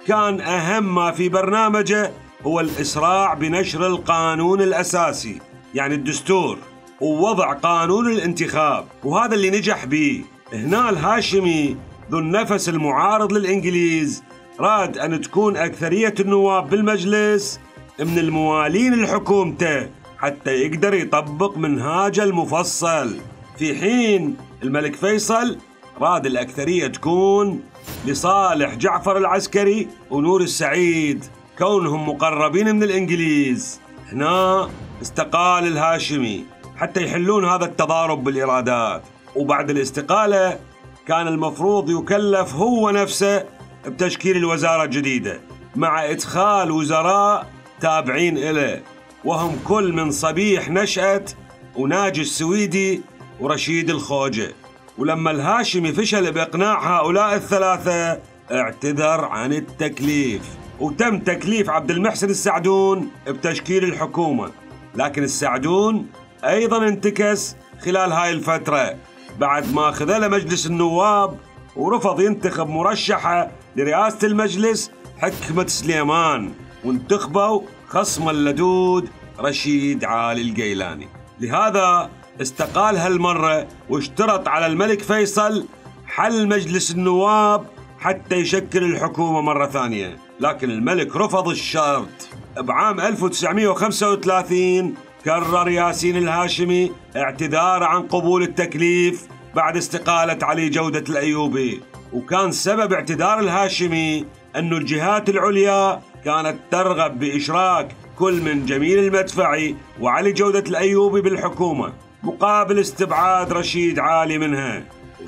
كان أهم ما في برنامجه هو الإسراع بنشر القانون الأساسي يعني الدستور ووضع قانون الانتخاب، وهذا اللي نجح به. هنا الهاشمي ذو النفس المعارض للإنجليز راد أن تكون أكثرية النواب بالمجلس من الموالين لحكومته حتى يقدر يطبق منهاجه المفصل، في حين الملك فيصل راد الأكثرية تكون لصالح جعفر العسكري ونور السعيد كونهم مقربين من الإنجليز. هنا استقال الهاشمي حتى يحلون هذا التضارب بالإرادات، وبعد الاستقالة كان المفروض يكلف هو نفسه بتشكيل الوزارة الجديدة مع إدخال وزراء تابعين إله، وهم كل من صبيح نشأت وناجي السويدي ورشيد الخوجة. ولما الهاشمي فشل بإقناع هؤلاء الثلاثة اعتذر عن التكليف، وتم تكليف عبد المحسن السعدون بتشكيل الحكومة. لكن السعدون أيضا انتكس خلال هاي الفترة بعد ما خذل مجلس النواب ورفض ينتخب مرشحة لرئاسة المجلس حكمة سليمان، وانتخبوا خصم اللدود رشيد عالي الجيلاني. لهذا استقال هالمرة واشترط على الملك فيصل حل مجلس النواب حتى يشكل الحكومة مرة ثانية، لكن الملك رفض الشرط. بعام ألف وتسعمئة وخمسة وثلاثين كرر ياسين الهاشمي اعتذاره عن قبول التكليف بعد استقالة علي جودة الأيوبي، وكان سبب اعتذار الهاشمي أن الجهات العليا كانت ترغب بإشراك كل من جميل المدفعي وعلي جودة الأيوبي بالحكومة مقابل استبعاد رشيد عالي منها،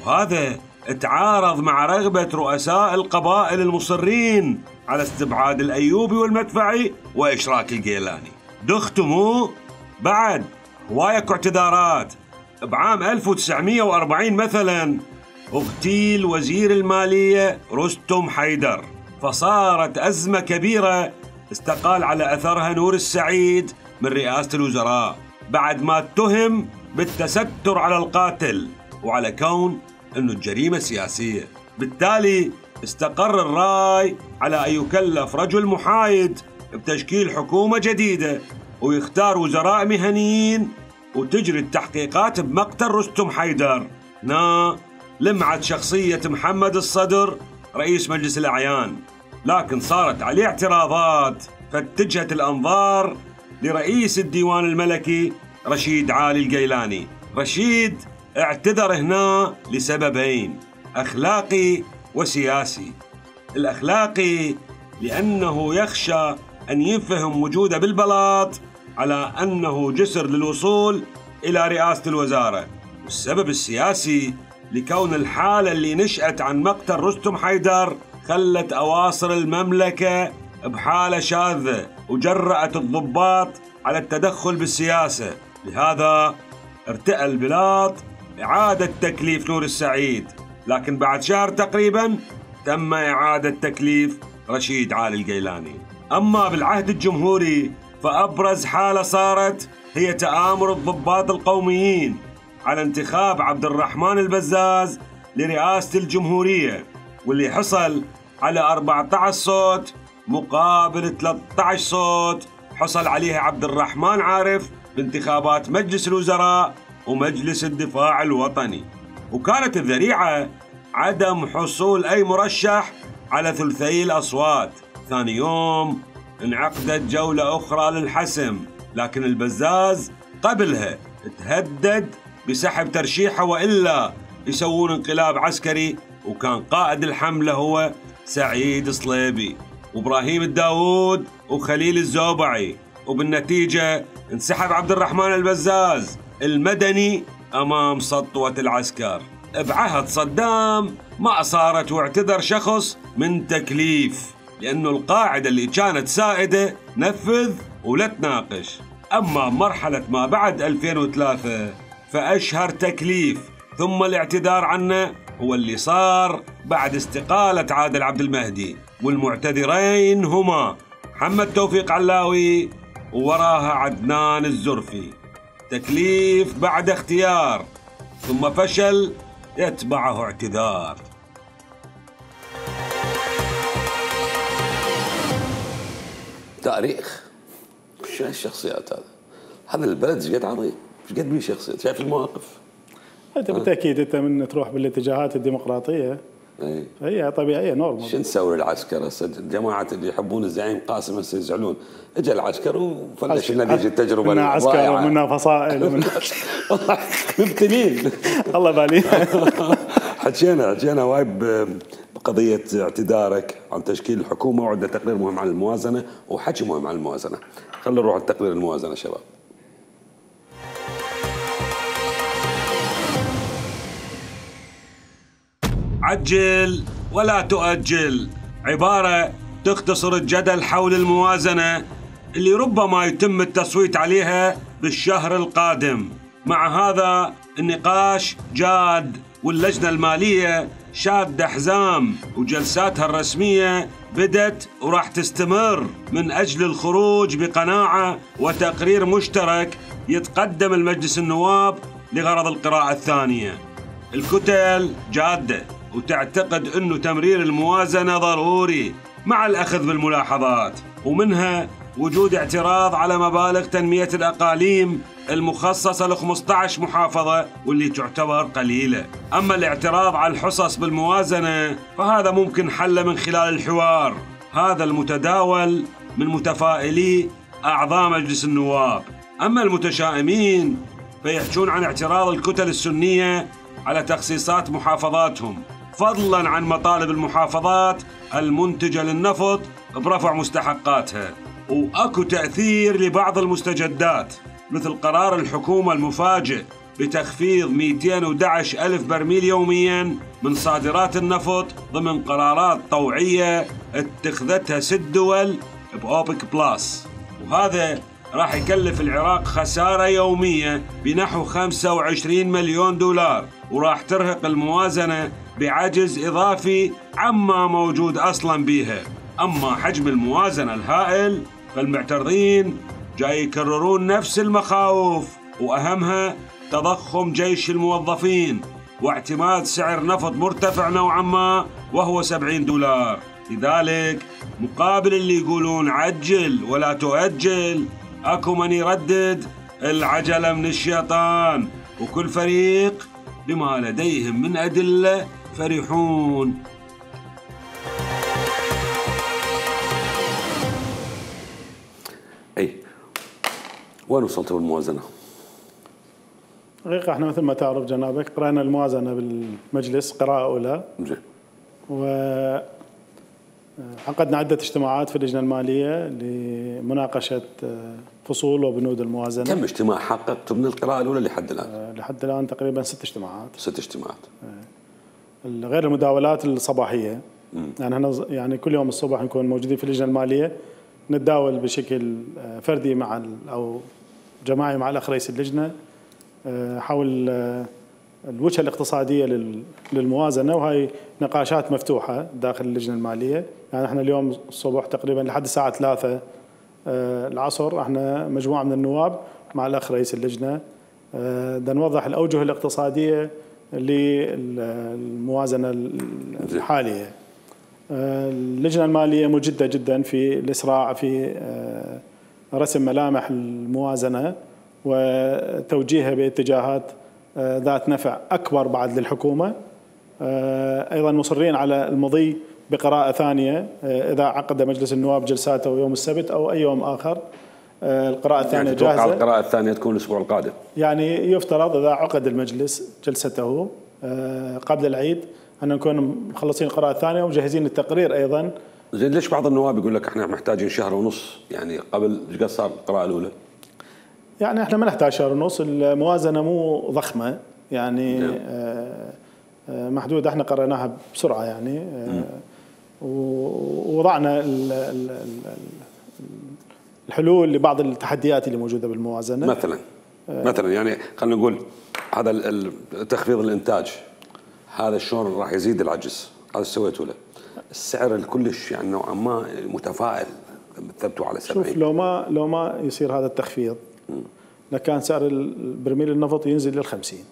وهذا تعارض مع رغبة رؤساء القبائل المصرين على استبعاد الأيوبي والمدفعي وإشراك الجيلاني. دختموا بعد هواية اعتذارات. بعام ألف وتسعمئة وأربعين مثلا اغتيل وزير المالية رستم حيدر، فصارت أزمة كبيرة استقال على أثرها نور السعيد من رئاسة الوزراء بعد ما اتهم بالتستر على القاتل وعلى كون أنه الجريمة سياسية. بالتالي استقر الرأي على أن يكلف رجل محايد بتشكيل حكومة جديدة ويختار وزراء مهنيين وتجري التحقيقات بمقتل رستم حيدر. هنا لمعت شخصية محمد الصدر رئيس مجلس الأعيان، لكن صارت عليه اعتراضات فاتجهت الأنظار لرئيس الديوان الملكي رشيد عالي الجيلاني. رشيد اعتذر هنا لسببين، أخلاقي وسياسي. الأخلاقي لأنه يخشى أن يفهم وجوده بالبلاط على أنه جسر للوصول إلى رئاسة الوزارة، والسبب السياسي لكون الحالة اللي نشأت عن مقتل رستم حيدر خلت أواصر المملكة بحالة شاذة وجرأت الضباط على التدخل بالسياسة. لهذا ارتأى البلاط إعادة تكليف نور السعيد، لكن بعد شهر تقريبا تم إعادة تكليف رشيد عالي الجيلاني. أما بالعهد الجمهوري فأبرز حالة صارت هي تآمر الضباط القوميين على انتخاب عبد الرحمن البزاز لرئاسة الجمهورية، واللي حصل على أربعة عشر صوت مقابل ثلاثة عشر صوت حصل عليها عبد الرحمن عارف بانتخابات مجلس الوزراء ومجلس الدفاع الوطني. وكانت الذريعة عدم حصول أي مرشح على ثلثي الأصوات. ثاني يوم انعقدت جولة أخرى للحسم، لكن البزاز قبلها تهدد بسحب ترشيحه وإلا يسوون انقلاب عسكري، وكان قائد الحملة هو سعيد صليبي وإبراهيم الداود وخليل الزوبعي، وبالنتيجة انسحب عبد الرحمن البزاز المدني أمام سطوة العسكر. بعهد صدام ما صارت واعتذر شخص من تكليف، لأنه القاعدة اللي كانت سائدة نفذ ولا تناقش. أما مرحلة ما بعد ألفين وثلاثة فأشهر تكليف ثم الاعتذار عنه هو اللي صار بعد استقالة عادل عبد المهدي، والمعتذرين هما محمد توفيق علاوي ووراها عدنان الزرفي. تكليف بعد اختيار ثم فشل يتبعه اعتذار. تاريخ شو هالشخصيات هذا؟ هذا البلد ايش قد عظيم، ايش قد بيه شخصيات، شايف المواقف. انت بالتاكيد انت من تروح بالاتجاهات الديمقراطيه ايه هي طبيعيه نورمال. شو نسوي العسكر هسه؟ الجماعه اللي يحبون الزعيم قاسم هسه يزعلون، اجى العسكر وفلش نتيجه التجربه منها عسكر ومنها فصائل ومنها والله مبتلين الله بالي. حكينا حكينا وايد بقضيه اعتذارك عن تشكيل الحكومه، وعندنا تقرير مهم عن الموازنه وحكي مهم عن الموازنه. خلينا نروح على تقرير الموازنه شباب. عجل ولا تؤجل، عبارة تختصر الجدل حول الموازنة اللي ربما يتم التصويت عليها بالشهر القادم. مع هذا النقاش جاد، واللجنة المالية شادة حزام، وجلساتها الرسمية بدت وراح تستمر من أجل الخروج بقناعة وتقرير مشترك يتقدم المجلس النواب لغرض القراءة الثانية. الكتل جادة وتعتقد أنه تمرير الموازنة ضروري مع الأخذ بالملاحظات، ومنها وجود اعتراض على مبالغ تنمية الأقاليم المخصصة ل خمسة عشر محافظة واللي تعتبر قليلة. أما الاعتراض على الحصص بالموازنة فهذا ممكن حله من خلال الحوار هذا المتداول من متفائلي أعضاء مجلس النواب. أما المتشائمين فيحجون عن اعتراض الكتل السنية على تخصيصات محافظاتهم، فضلا عن مطالب المحافظات المنتجة للنفط برفع مستحقاتها. وأكو تأثير لبعض المستجدات مثل قرار الحكومة المفاجئ بتخفيض مئتين وأحد عشر ألف برميل يوميا من صادرات النفط ضمن قرارات طوعية اتخذتها ست دول بأوبك بلاس، وهذا راح يكلف العراق خسارة يومية بنحو خمسة وعشرين مليون دولار، وراح ترهق الموازنة بعجز إضافي عما موجود أصلا بيها. أما حجم الموازنة الهائل فالمعترضين جاي يكررون نفس المخاوف، وأهمها تضخم جيش الموظفين واعتماد سعر نفط مرتفع نوعا ما وهو سبعين دولار. لذلك مقابل اللي يقولون عجل ولا تؤجل، أكو من يردد العجلة من الشيطان، وكل فريق بما لديهم من أدلة فرحون. أي وين وصلت بالموازنة؟ حقيقة احنا مثل ما تعرف جنابك قرأنا الموازنة بالمجلس قراءة أولى، وعقدنا عدة اجتماعات في اللجنة المالية لمناقشة فصول وبنود الموازنة. كم اجتماع حققت من القراءة الأولى لحد الآن؟ لحد الآن تقريبا ست اجتماعات. ست اجتماعات. غير المداولات الصباحية. مم. يعني احنا يعني كل يوم الصبح نكون موجودين في اللجنة المالية، نتداول بشكل فردي مع أو جماعي مع الأخ رئيس اللجنة حول الوجهة الاقتصادية للموازنة، وهي نقاشات مفتوحة داخل اللجنة المالية. يعني احنا اليوم الصبح تقريبا لحد الساعة ثلاثة العصر احنا مجموعة من النواب مع الأخ رئيس اللجنة بدنا نوضح الأوجه الاقتصادية للموازنة الحالية. اللجنة المالية مجدة جدا في الإسراع في رسم ملامح الموازنة وتوجيهها باتجاهات ذات نفع أكبر بعد للحكومة. أيضا مصرين على المضي بقراءة ثانية إذا عقد مجلس النواب جلساته يوم السبت أو أي يوم آخر. القراءة الثانية يعني جاهزة. القراءة الثانية تكون الأسبوع القادم. يعني يفترض إذا عقد المجلس جلسته قبل العيد أن نكون مخلصين القراءة الثانية ومجهزين التقرير أيضا. زين ليش بعض النواب يقول لك احنا محتاجين شهر ونص يعني قبل ايش قد صار القراءة الأولى؟ يعني احنا ما نحتاج شهر ونص، الموازنة مو ضخمة يعني آه محدودة، احنا قرأناها بسرعة يعني آه ووضعنا الحلول لبعض التحديات اللي موجودة بالموازنة. مثلا آه مثلا يعني خلينا نقول هذا تخفيض الإنتاج، هذا شلون راح يزيد العجز؟ هذا سويته له. السعر الكلش يعني نوعا ما متفائل ثبتوا على سبعين. شوف لو ما لو ما يصير هذا التخفيض لكان سعر البرميل النفط ينزل للخمسين،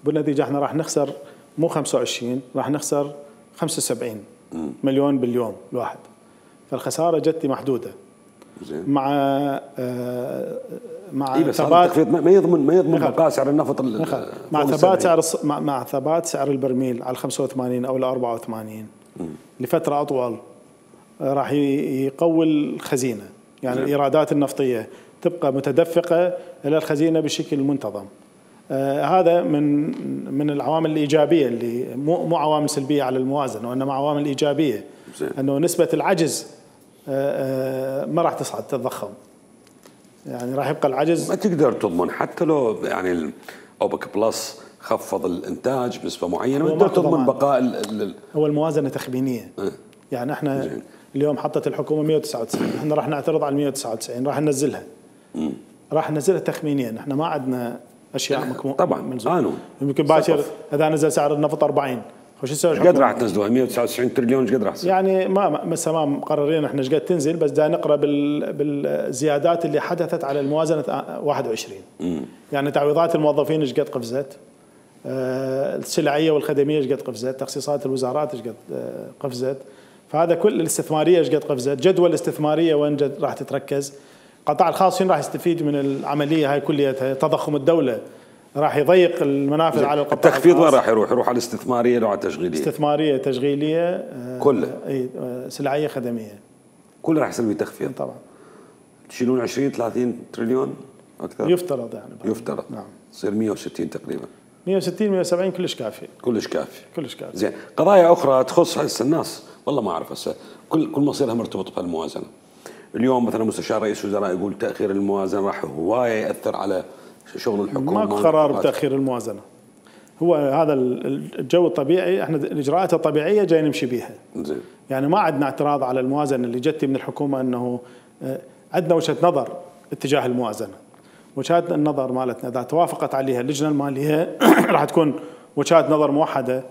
بالنتيجة احنا راح نخسر مو خمسة وعشرين، راح نخسر خمسة وسبعين مليون باليوم الواحد، فالخسارة جتي محدودة. زين. مع آه مع إيه ثبات ما يضمن ما يضمن بقاء سعر النفط مع ثبات سعر مع, مع ثبات سعر البرميل على خمسة وثمانين او ال أربعة وثمانين م. لفتره اطول راح يقوي الخزينه، يعني زين. الايرادات النفطيه تبقى متدفقه الى الخزينه بشكل منتظم. آه هذا من من العوامل الايجابيه اللي مو مو عوامل سلبيه على الموازنه، وانما عوامل ايجابيه زين. انه نسبه العجز آه آه ما راح تصعد تتضخم، يعني راح يبقى العجز. ما تقدر تضمن حتى لو يعني اوبك بلس خفض الانتاج بنسبه معينه، ما تقدر تضمن بقاء ال هو الموازنه تخمينيه. أه. يعني احنا زين. اليوم حطت الحكومه مئة وتسعة وتسعين، احنا راح نعترض على مئة وتسعة وتسعين، راح ننزلها. امم راح ننزلها تخمينيا، احنا ما عندنا اشياء مكمونه طبعا قانون. يمكن باكر اذا نزل سعر النفط أربعين، وش يسوي الحكومه؟ ايش قد راح تنزلوها؟ مئة وتسعة وتسعين تريليون ايش قد راح تصير؟ يعني ما مسا ما مقررين احنا ايش قد تنزل، بس دا نقرا بال بالزيادات اللي حدثت على الموازنه واحد وعشرين. امم يعني تعويضات الموظفين ايش قد قفزت؟ آه السلعيه والخدميه ايش قد قفزت؟ تخصيصات الوزارات ايش قد آه قفزت؟ فهذا كل الاستثماريه ايش قد قفزت؟ جدول الاستثماريه وين جد راح تتركز؟ القطاع الخاص راح يستفيد من العمليه هاي كليتها، تضخم الدوله راح يضيق المنافذ على القطاع. التخفيض وين راح يروح؟ يروح على الاستثماريه لو على التشغيليه؟ استثماريه تشغيليه كلها اي سلعيه خدميه كلها راح يصير به تخفيض طبعا. تشيلون عشرين ثلاثين تريليون اكثر يفترض يعني يفترض نعم تصير مئة وستين تقريبا مئة وستين مئة وسبعين كلش كافي كلش كافي كلش كافي. زين قضايا اخرى تخص هسه الناس والله ما اعرف هسه كل كل مصيرها مرتبط بهالموازنه. اليوم مثلا مستشار رئيس الوزراء يقول تاخير الموازنه راح هوايه ياثر على شغل الحكومه. ماكو قرار بتاخير الموازنه، هو هذا الجو الطبيعي، احنا الاجراءات الطبيعيه جاي نمشي بيها. زين. يعني ما عندنا اعتراض على الموازنه اللي جت من الحكومه، انه عندنا وجهه نظر اتجاه الموازنه. وجهات النظر مالتنا اذا توافقت عليها اللجنه الماليه راح تكون وجهات نظر موحده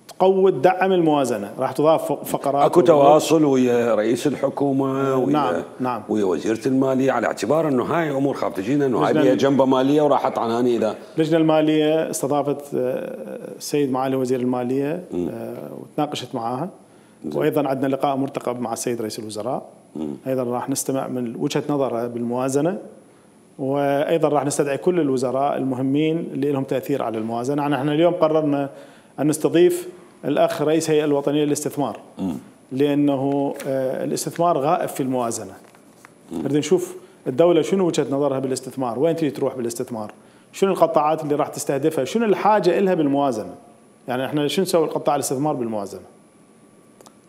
تقوي تدعم الموازنه، راح تضاف فقرات. اكو تواصل ويا رئيس الحكومه ويا نعم نعم ويا وزيره الماليه على اعتبار انه هاي امور خاف تجينا انه هاي بيها جنبه ماليه وراحت عناني. اذا اللجنه الماليه استضافت السيد معالي وزير الماليه وتناقشت معاها، وايضا عندنا لقاء مرتقب مع السيد رئيس الوزراء. م. ايضا راح نستمع من وجهه نظره بالموازنه، وايضا راح نستدعي كل الوزراء المهمين اللي لهم تاثير على الموازنه. نحن اليوم قررنا ان نستضيف الاخ رئيس الهيئه الوطنيه للاستثمار، م. لانه الاستثمار غائب في الموازنه. نريد نشوف الدوله شنو وجهه نظرها بالاستثمار، وين تريد تروح بالاستثمار، شنو القطاعات اللي راح تستهدفها، شنو الحاجه لها بالموازنه. يعني احنا شنو نسوي القطاع الاستثمار بالموازنه؟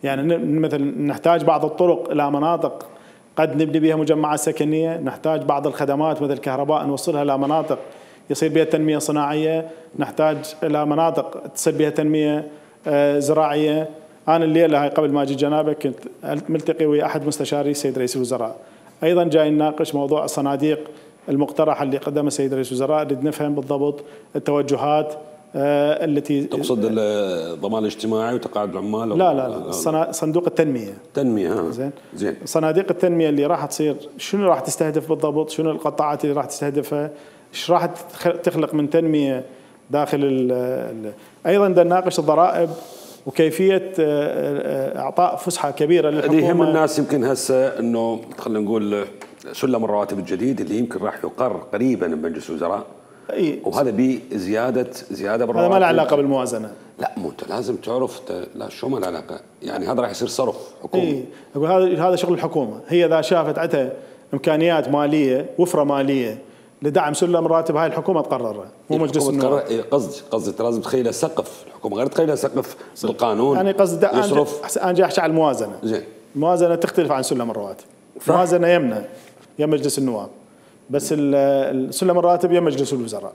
يعني مثلا نحتاج بعض الطرق الى مناطق قد نبني بها مجمعات سكنيه، نحتاج بعض الخدمات مثل الكهرباء نوصلها الى مناطق يصير بها تنميه صناعيه، نحتاج الى مناطق تصير بها تنميه زراعيه. انا الليله هاي قبل ما اجي جنابك كنت ملتقي ويا احد مستشاري السيد رئيس الوزراء، ايضا جاي نناقش موضوع الصناديق المقترحه اللي قدمها السيد رئيس الوزراء، نريد نفهم بالضبط التوجهات التي تقصد الضمان الاجتماعي وتقاعد العمال. لا لا لا صندوق التنميه. تنميه ها زين زين. صناديق التنميه اللي راح تصير شنو راح تستهدف بالضبط، شنو القطاعات اللي راح تستهدفها، ايش راح تخلق من تنميه داخل ال ال ايضا بدنا نناقش الضرائب وكيفيه اعطاء فسحه كبيره للحكومه. اللي يهم الناس يمكن هسه انه خلينا نقول سلم الرواتب الجديد اللي يمكن راح يقر قريبا بمجلس الوزراء. اي وهذا بي زياده زياده بالرواتب. هذا ما له علاقه بالموازنه. لا مو انت لازم تعرف لا شو ما له علاقه، يعني هذا راح يصير صرف حكومي. اي اقول هذا هذا شغل الحكومه، هي اذا شافت عندها امكانيات ماليه وفره ماليه لدعم سلم الراتب هاي الحكومه تقررها مو مجلس النواب. قصدي قصدي انت لازم تخيلها سقف، الحكومه غير تخيلها سقف بالقانون. يعني قصدي يصرف. انا جاي احكي على الموازنه. زين. الموازنه تختلف عن سلم الرواتب. الموازنه يمنا يا مجلس النواب، بس سلم الراتب يا مجلس الوزراء.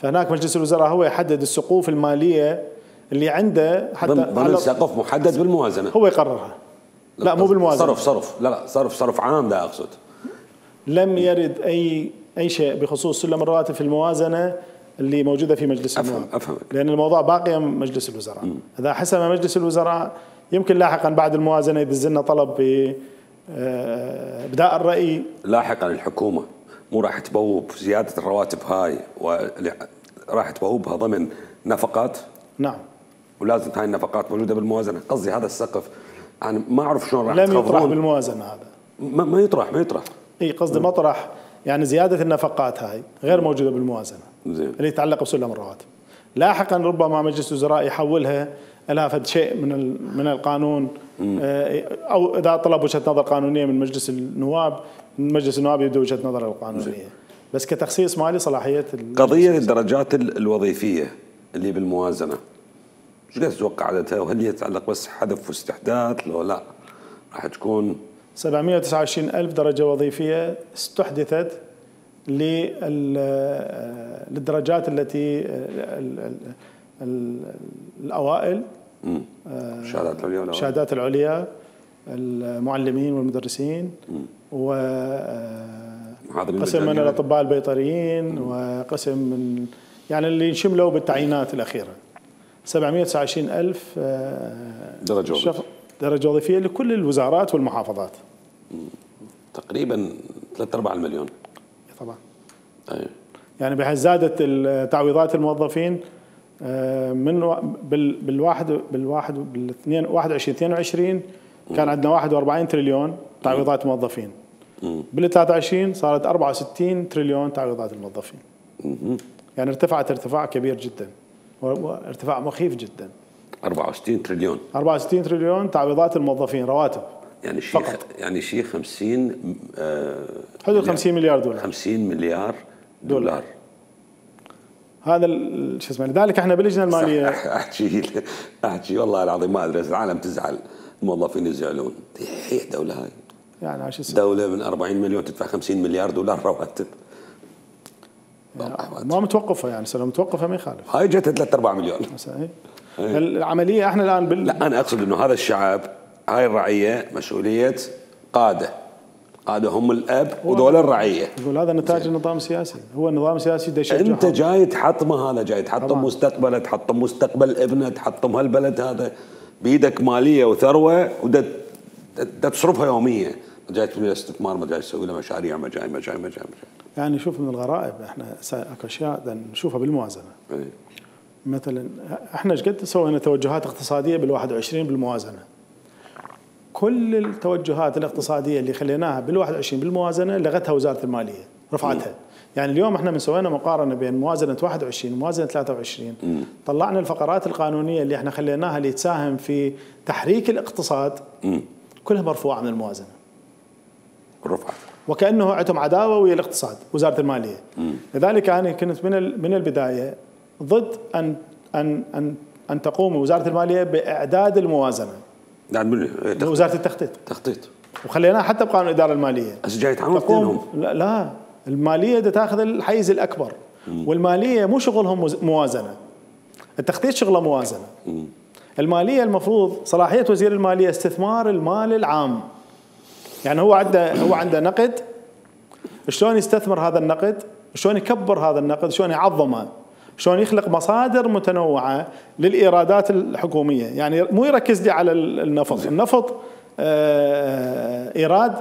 فهناك مجلس الوزراء هو يحدد السقوف الماليه اللي عنده حتى ضمن سقف محدد بالموازنه هو يقررها. لا, لا مو بالموازنه، صرف صرف لا لا صرف صرف عام ده اقصد. لم يرد اي اي شيء بخصوص سلم الرواتب في الموازنه اللي موجوده في مجلس النواب. افهم افهم لان الموضوع باقي مجلس الوزراء. م. اذا حسم مجلس الوزراء يمكن لاحقا بعد الموازنه يدز لنا طلب بابداء الراي. لاحقا الحكومه مو راح تبوب زياده الرواتب هاي وراح تبوبها ضمن نفقات. نعم. ولازم هاي النفقات موجوده بالموازنه، قصدي هذا السقف انا ما اعرف شلون راح لم يطرح بالموازنه هذا. ما, ما يطرح ما يطرح اي قصدي مطرح، يعني زياده النفقات هاي غير موجوده بالموازنه زين. اللي يتعلق بسلم الرواتب. لاحقا ربما مجلس الوزراء يحولها لها فد شيء من من القانون، او اذا طلب وجهه نظر قانونيه من مجلس النواب، من مجلس النواب يبدو وجهه نظر القانونيه. بس كتخصيص مالي صلاحيه قضيه الدرجات الوظيفيه اللي بالموازنه، ايش قد تتوقع عددها؟ وهل هي تتعلق بس حذف واستحداث لو لا راح تكون؟ سبعمئة وتسعة وعشرين ألف درجه وظيفيه استحدثت للدرجات التي الأوائل، الشهادات العليا الشهادات العليا، المعلمين والمدرسين، وقسم من الأطباء البيطريين، وقسم من يعني اللي شملوا بالتعيينات الأخيرة. سبعمئة وتسعة وعشرين ألف درجة وظيفية درجة وظيفية لكل الوزارات والمحافظات. تقريبا ثلاثة أرباع المليون طبعا. أيه. يعني بحيث زادت تعويضات الموظفين من بالواحد بالواحد بالاثنين واحد وعشرين اثنين وعشرين كان عندنا واحد وأربعين تريليون تعويضات موظفين. بال ثلاثة وعشرين صارت أربعة وستين تريليون تعويضات الموظفين. يعني ارتفعت ارتفاع كبير جدا، وارتفاع مخيف جدا. أربعة وستين تريليون أربعة وستين تريليون تعويضات الموظفين رواتب يعني شيء فقط. يعني شيء خمسين آه حدود خمسين مليار دولار خمسين مليار دولار, دولار. هذا شو اسمه. لذلك احنا باللجنه الماليه احكي احكي والله العظيم ما ادري، العالم تزعل، الموظفين يزعلون. هي دوله هاي يعني عايش دوله من أربعين مليون تدفع خمسين مليار دولار رواتب يعني ما متوقفه، يعني لو متوقفه ما يخالف. هاي جت ثلاثة أرباع مليون. العمليه احنا الان بال... لا انا اقصد انه هذا الشعب، هاي الرعيه مسؤوليه قاده، قاده هم الاب ودول الرعيه. يقول هذا نتاج النظام السياسي، هو النظام السياسي ده يشجع. انت جاي تحطم هذا، جاي تحطم مستقبله، تحطم مستقبل ابنه، تحطم هالبلد هذا بيدك ماليه وثروه وده تصرفها يوميا، ما جاي تسوي له استثمار، ما جاي تسوي له مشاريع، ما جاي ما جاي ما جاي يعني شوف من الغرائب احنا اكو اشياء نشوفها بالموازنه. ايه. مثلا احنا ايش قد سوينا توجهات اقتصاديه بالواحد وعشرين بالموازنه. كل التوجهات الاقتصاديه اللي خليناها بالواحد وعشرين بالموازنه لغتها وزاره الماليه، رفعتها. يعني اليوم احنا من سوينا مقارنه بين موازنه واحد وعشرين وموازنه ثلاثة وعشرين، م. طلعنا الفقرات القانونيه اللي احنا خليناها اللي تساهم في تحريك الاقتصاد، م. كلها مرفوعه من الموازنه. رفعت. وكانه عندهم عداوه ويا الاقتصاد وزاره الماليه. م. لذلك انا كنت من من البدايه ضد ان ان ان ان تقوم وزاره الماليه باعداد الموازنه. يعني وزاره التخطيط. تخطيط. وخليناها حتى بقانون الاداره الماليه. بس جاي يتعامل اثنينهم. لا, لا الماليه بدها تاخذ الحيز الاكبر. م. والماليه مو شغلهم موازنه. التخطيط شغله موازنه. م. الماليه المفروض صلاحيه وزير الماليه استثمار المال العام. يعني هو عنده هو عنده نقد، شلون يستثمر هذا النقد؟ شلون يكبر هذا النقد؟ شلون يعظمه؟ شلون يخلق مصادر متنوعه للايرادات الحكوميه؟ يعني مو يركز لي على النفط، النفط ايراد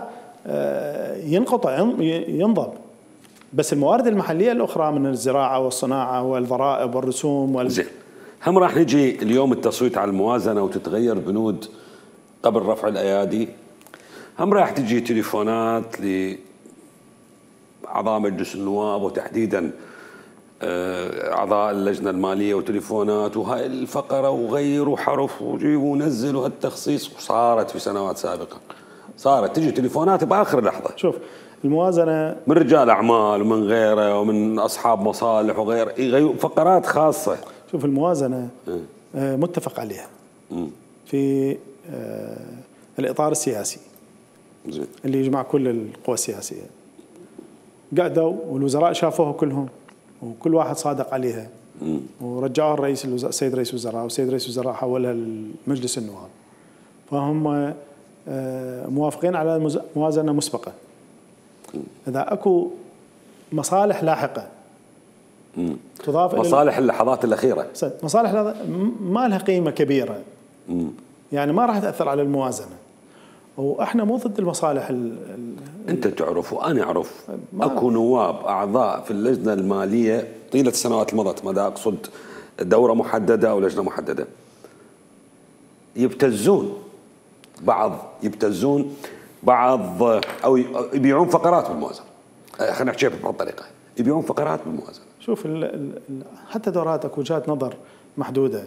ينقطع ينضب، بس الموارد المحليه الاخرى من الزراعه والصناعه والضرائب والرسوم وال... زين. هم راح نجي اليوم التصويت على الموازنه وتتغير بنود قبل رفع الايادي. هم راح تجي تليفونات لاعضاء مجلس النواب وتحديدا اعضاء اللجنه الماليه، وتليفونات وهاي الفقره وغيروا حرف وجيبوا ونزلوا هالتخصيص، وصارت في سنوات سابقه صارت تجي تليفونات باخر لحظه. شوف الموازنه من رجال اعمال ومن غيره ومن اصحاب مصالح وغيره يغيروا فقرات خاصه. شوف الموازنه اه. متفق عليها م. في اه الاطار السياسي زين. اللي يجمع كل القوى السياسيه، قعدوا والوزراء شافوها كلهم وكل واحد صادق عليها، م. ورجعوها الرئيس الوزراء السيد رئيس الوزراء، والسيد رئيس الوزراء حولها لمجلس النواب، فهم موافقين على موازنه مسبقه. اذا اكو مصالح لاحقه م. تضاف مصالح اللحظات الاخيره، مصالح ما لها قيمه كبيره، م. يعني ما راح تاثر على الموازنه. واحنا مو ضد المصالح ال انت تعرف وانا اعرف اكو نواب اعضاء في اللجنه الماليه طيله السنوات المضت، ما دا اقصد دوره محدده او لجنه محدده، يبتزون بعض يبتزون بعض او يبيعون فقرات بالموازنه، خلينا نحكي بهالطريقه، يبيعون فقرات بالموازنه. شوف ال ال حتى دوراتك وجهات نظر محدوده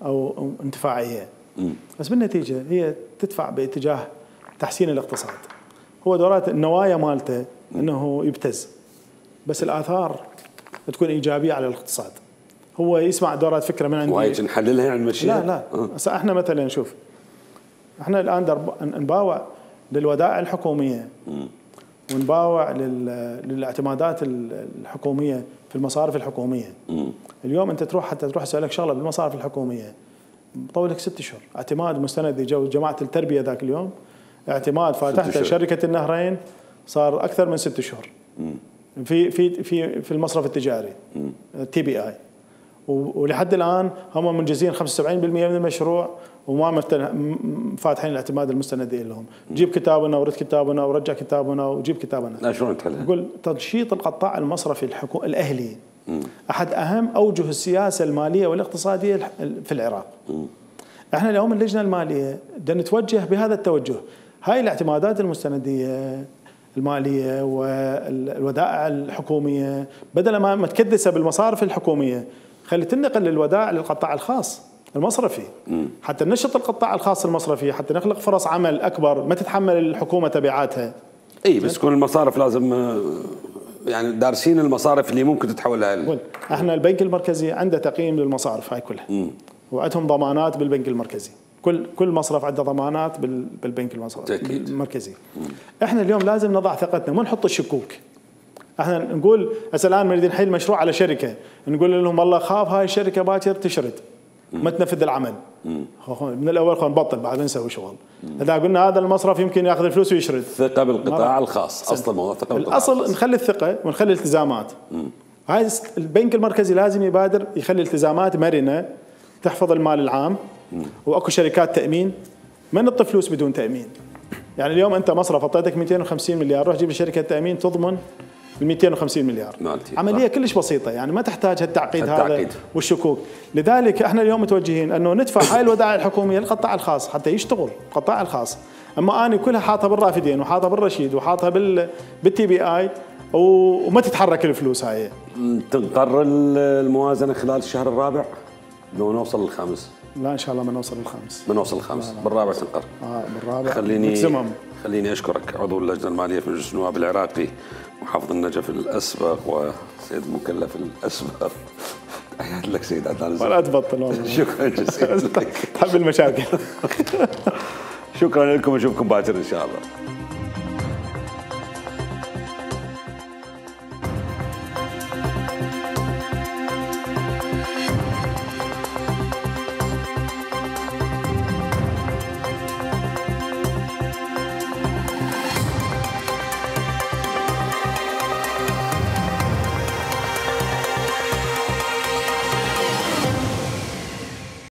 او أو انتفاعيه، بس بالنتيجه هي تدفع باتجاه تحسين الاقتصاد. هو دورات النوايا مالته انه يبتز، بس الاثار تكون ايجابيه على الاقتصاد. هو يسمع دورات فكره من عندي وايد نحللها يعني نمشيها؟ لا لا هسه احنا مثلا شوف، احنا الان درب نباوع للودائع الحكوميه ونباوع للاعتمادات الحكوميه في المصارف الحكوميه. اليوم انت تروح حتى تروح اسالك شغله بالمصارف الحكوميه طول لك ست اشهر اعتماد مستند. جو جماعه التربيه ذاك اليوم اعتماد فاتحته شركه النهرين صار اكثر من ست اشهر في في في في المصرف التجاري تي بي اي، ولحد الان هم منجزين خمسة وسبعين بالمئة من المشروع وما فاتحين الاعتماد المستندي لهم. جيب كتابنا ورد كتابنا ورجع كتابنا وجيب كتابنا. لا شلون تحلها؟ يقول تنشيط القطاع المصرفي الحكو... الاهلي م. احد اهم اوجه السياسه الماليه والاقتصاديه في العراق. م. احنا اليوم اللجنه الماليه بدنا نتوجه بهذا التوجه. هاي الاعتمادات المستنديه الماليه والودائع الحكوميه بدل ما تكدسها بالمصارف الحكوميه خلي تنقل للودائع للقطاع الخاص المصرفي م. حتى ننشط القطاع الخاص المصرفي، حتى نخلق فرص عمل اكبر ما تتحمل الحكومه تبعاتها. اي بس كل المصارف لازم يعني دارسين المصارف اللي ممكن تتحول لها. احنا البنك المركزي عنده تقييم للمصارف هاي كلها م. وعندهم ضمانات بالبنك المركزي. كل كل مصرف عنده ضمانات بالبنك المركزي. م. احنا اليوم لازم نضع ثقتنا مو نحط الشكوك. احنا نقول هسه الان نريد نحل مشروع على شركه نقول لهم والله خاف هاي الشركه باكر تشرد ما تنفذ العمل. مم. من الاول خلينا نبطل بعد نسوي شغل. اذا قلنا هذا المصرف يمكن ياخذ الفلوس ويشرد. ثقه بالقطاع الخاص اصل الموضوع ثقه بالقطاع الاصل الخاص. نخلي الثقه ونخلي الالتزامات. هاي البنك المركزي لازم يبادر يخلي التزامات مرنه تحفظ المال العام. مم. واكو شركات تامين ما نعطي فلوس بدون تامين. يعني اليوم انت مصرف اعطيتك مئتين وخمسين مليار روح جيب شركه تامين تضمن ال مئتين وخمسين مليار. مالتي. عمليه كلش بسيطه يعني ما تحتاج هالتعقيد هذا والشكوك. لذلك احنا اليوم متوجهين انه ندفع هاي الودائع الحكوميه للقطاع الخاص حتى يشتغل القطاع الخاص. اما اني كلها حاطها بالرافدين وحاطها بالرشيد وحاطها بال بالتي بي اي وما تتحرك الفلوس هاي. تنقر الموازنه خلال الشهر الرابع لو نوصل للخامس؟ لا ان شاء الله ما نوصل للخامس. ما نوصل للخامس بالرابع تنقر. اه بالرابع. خليني مكزمم. خليني اشكرك عضو اللجنه الماليه في مجلس النواب العراقي محافظ النجف الاسبق وسيد المكلف الاسبق. تحياتي لك سيد عدنان. ولا تبطل والله. شكرا جزيلا. تحب المشاكل. شكرا لكم اشوفكم باكر ان شاء الله.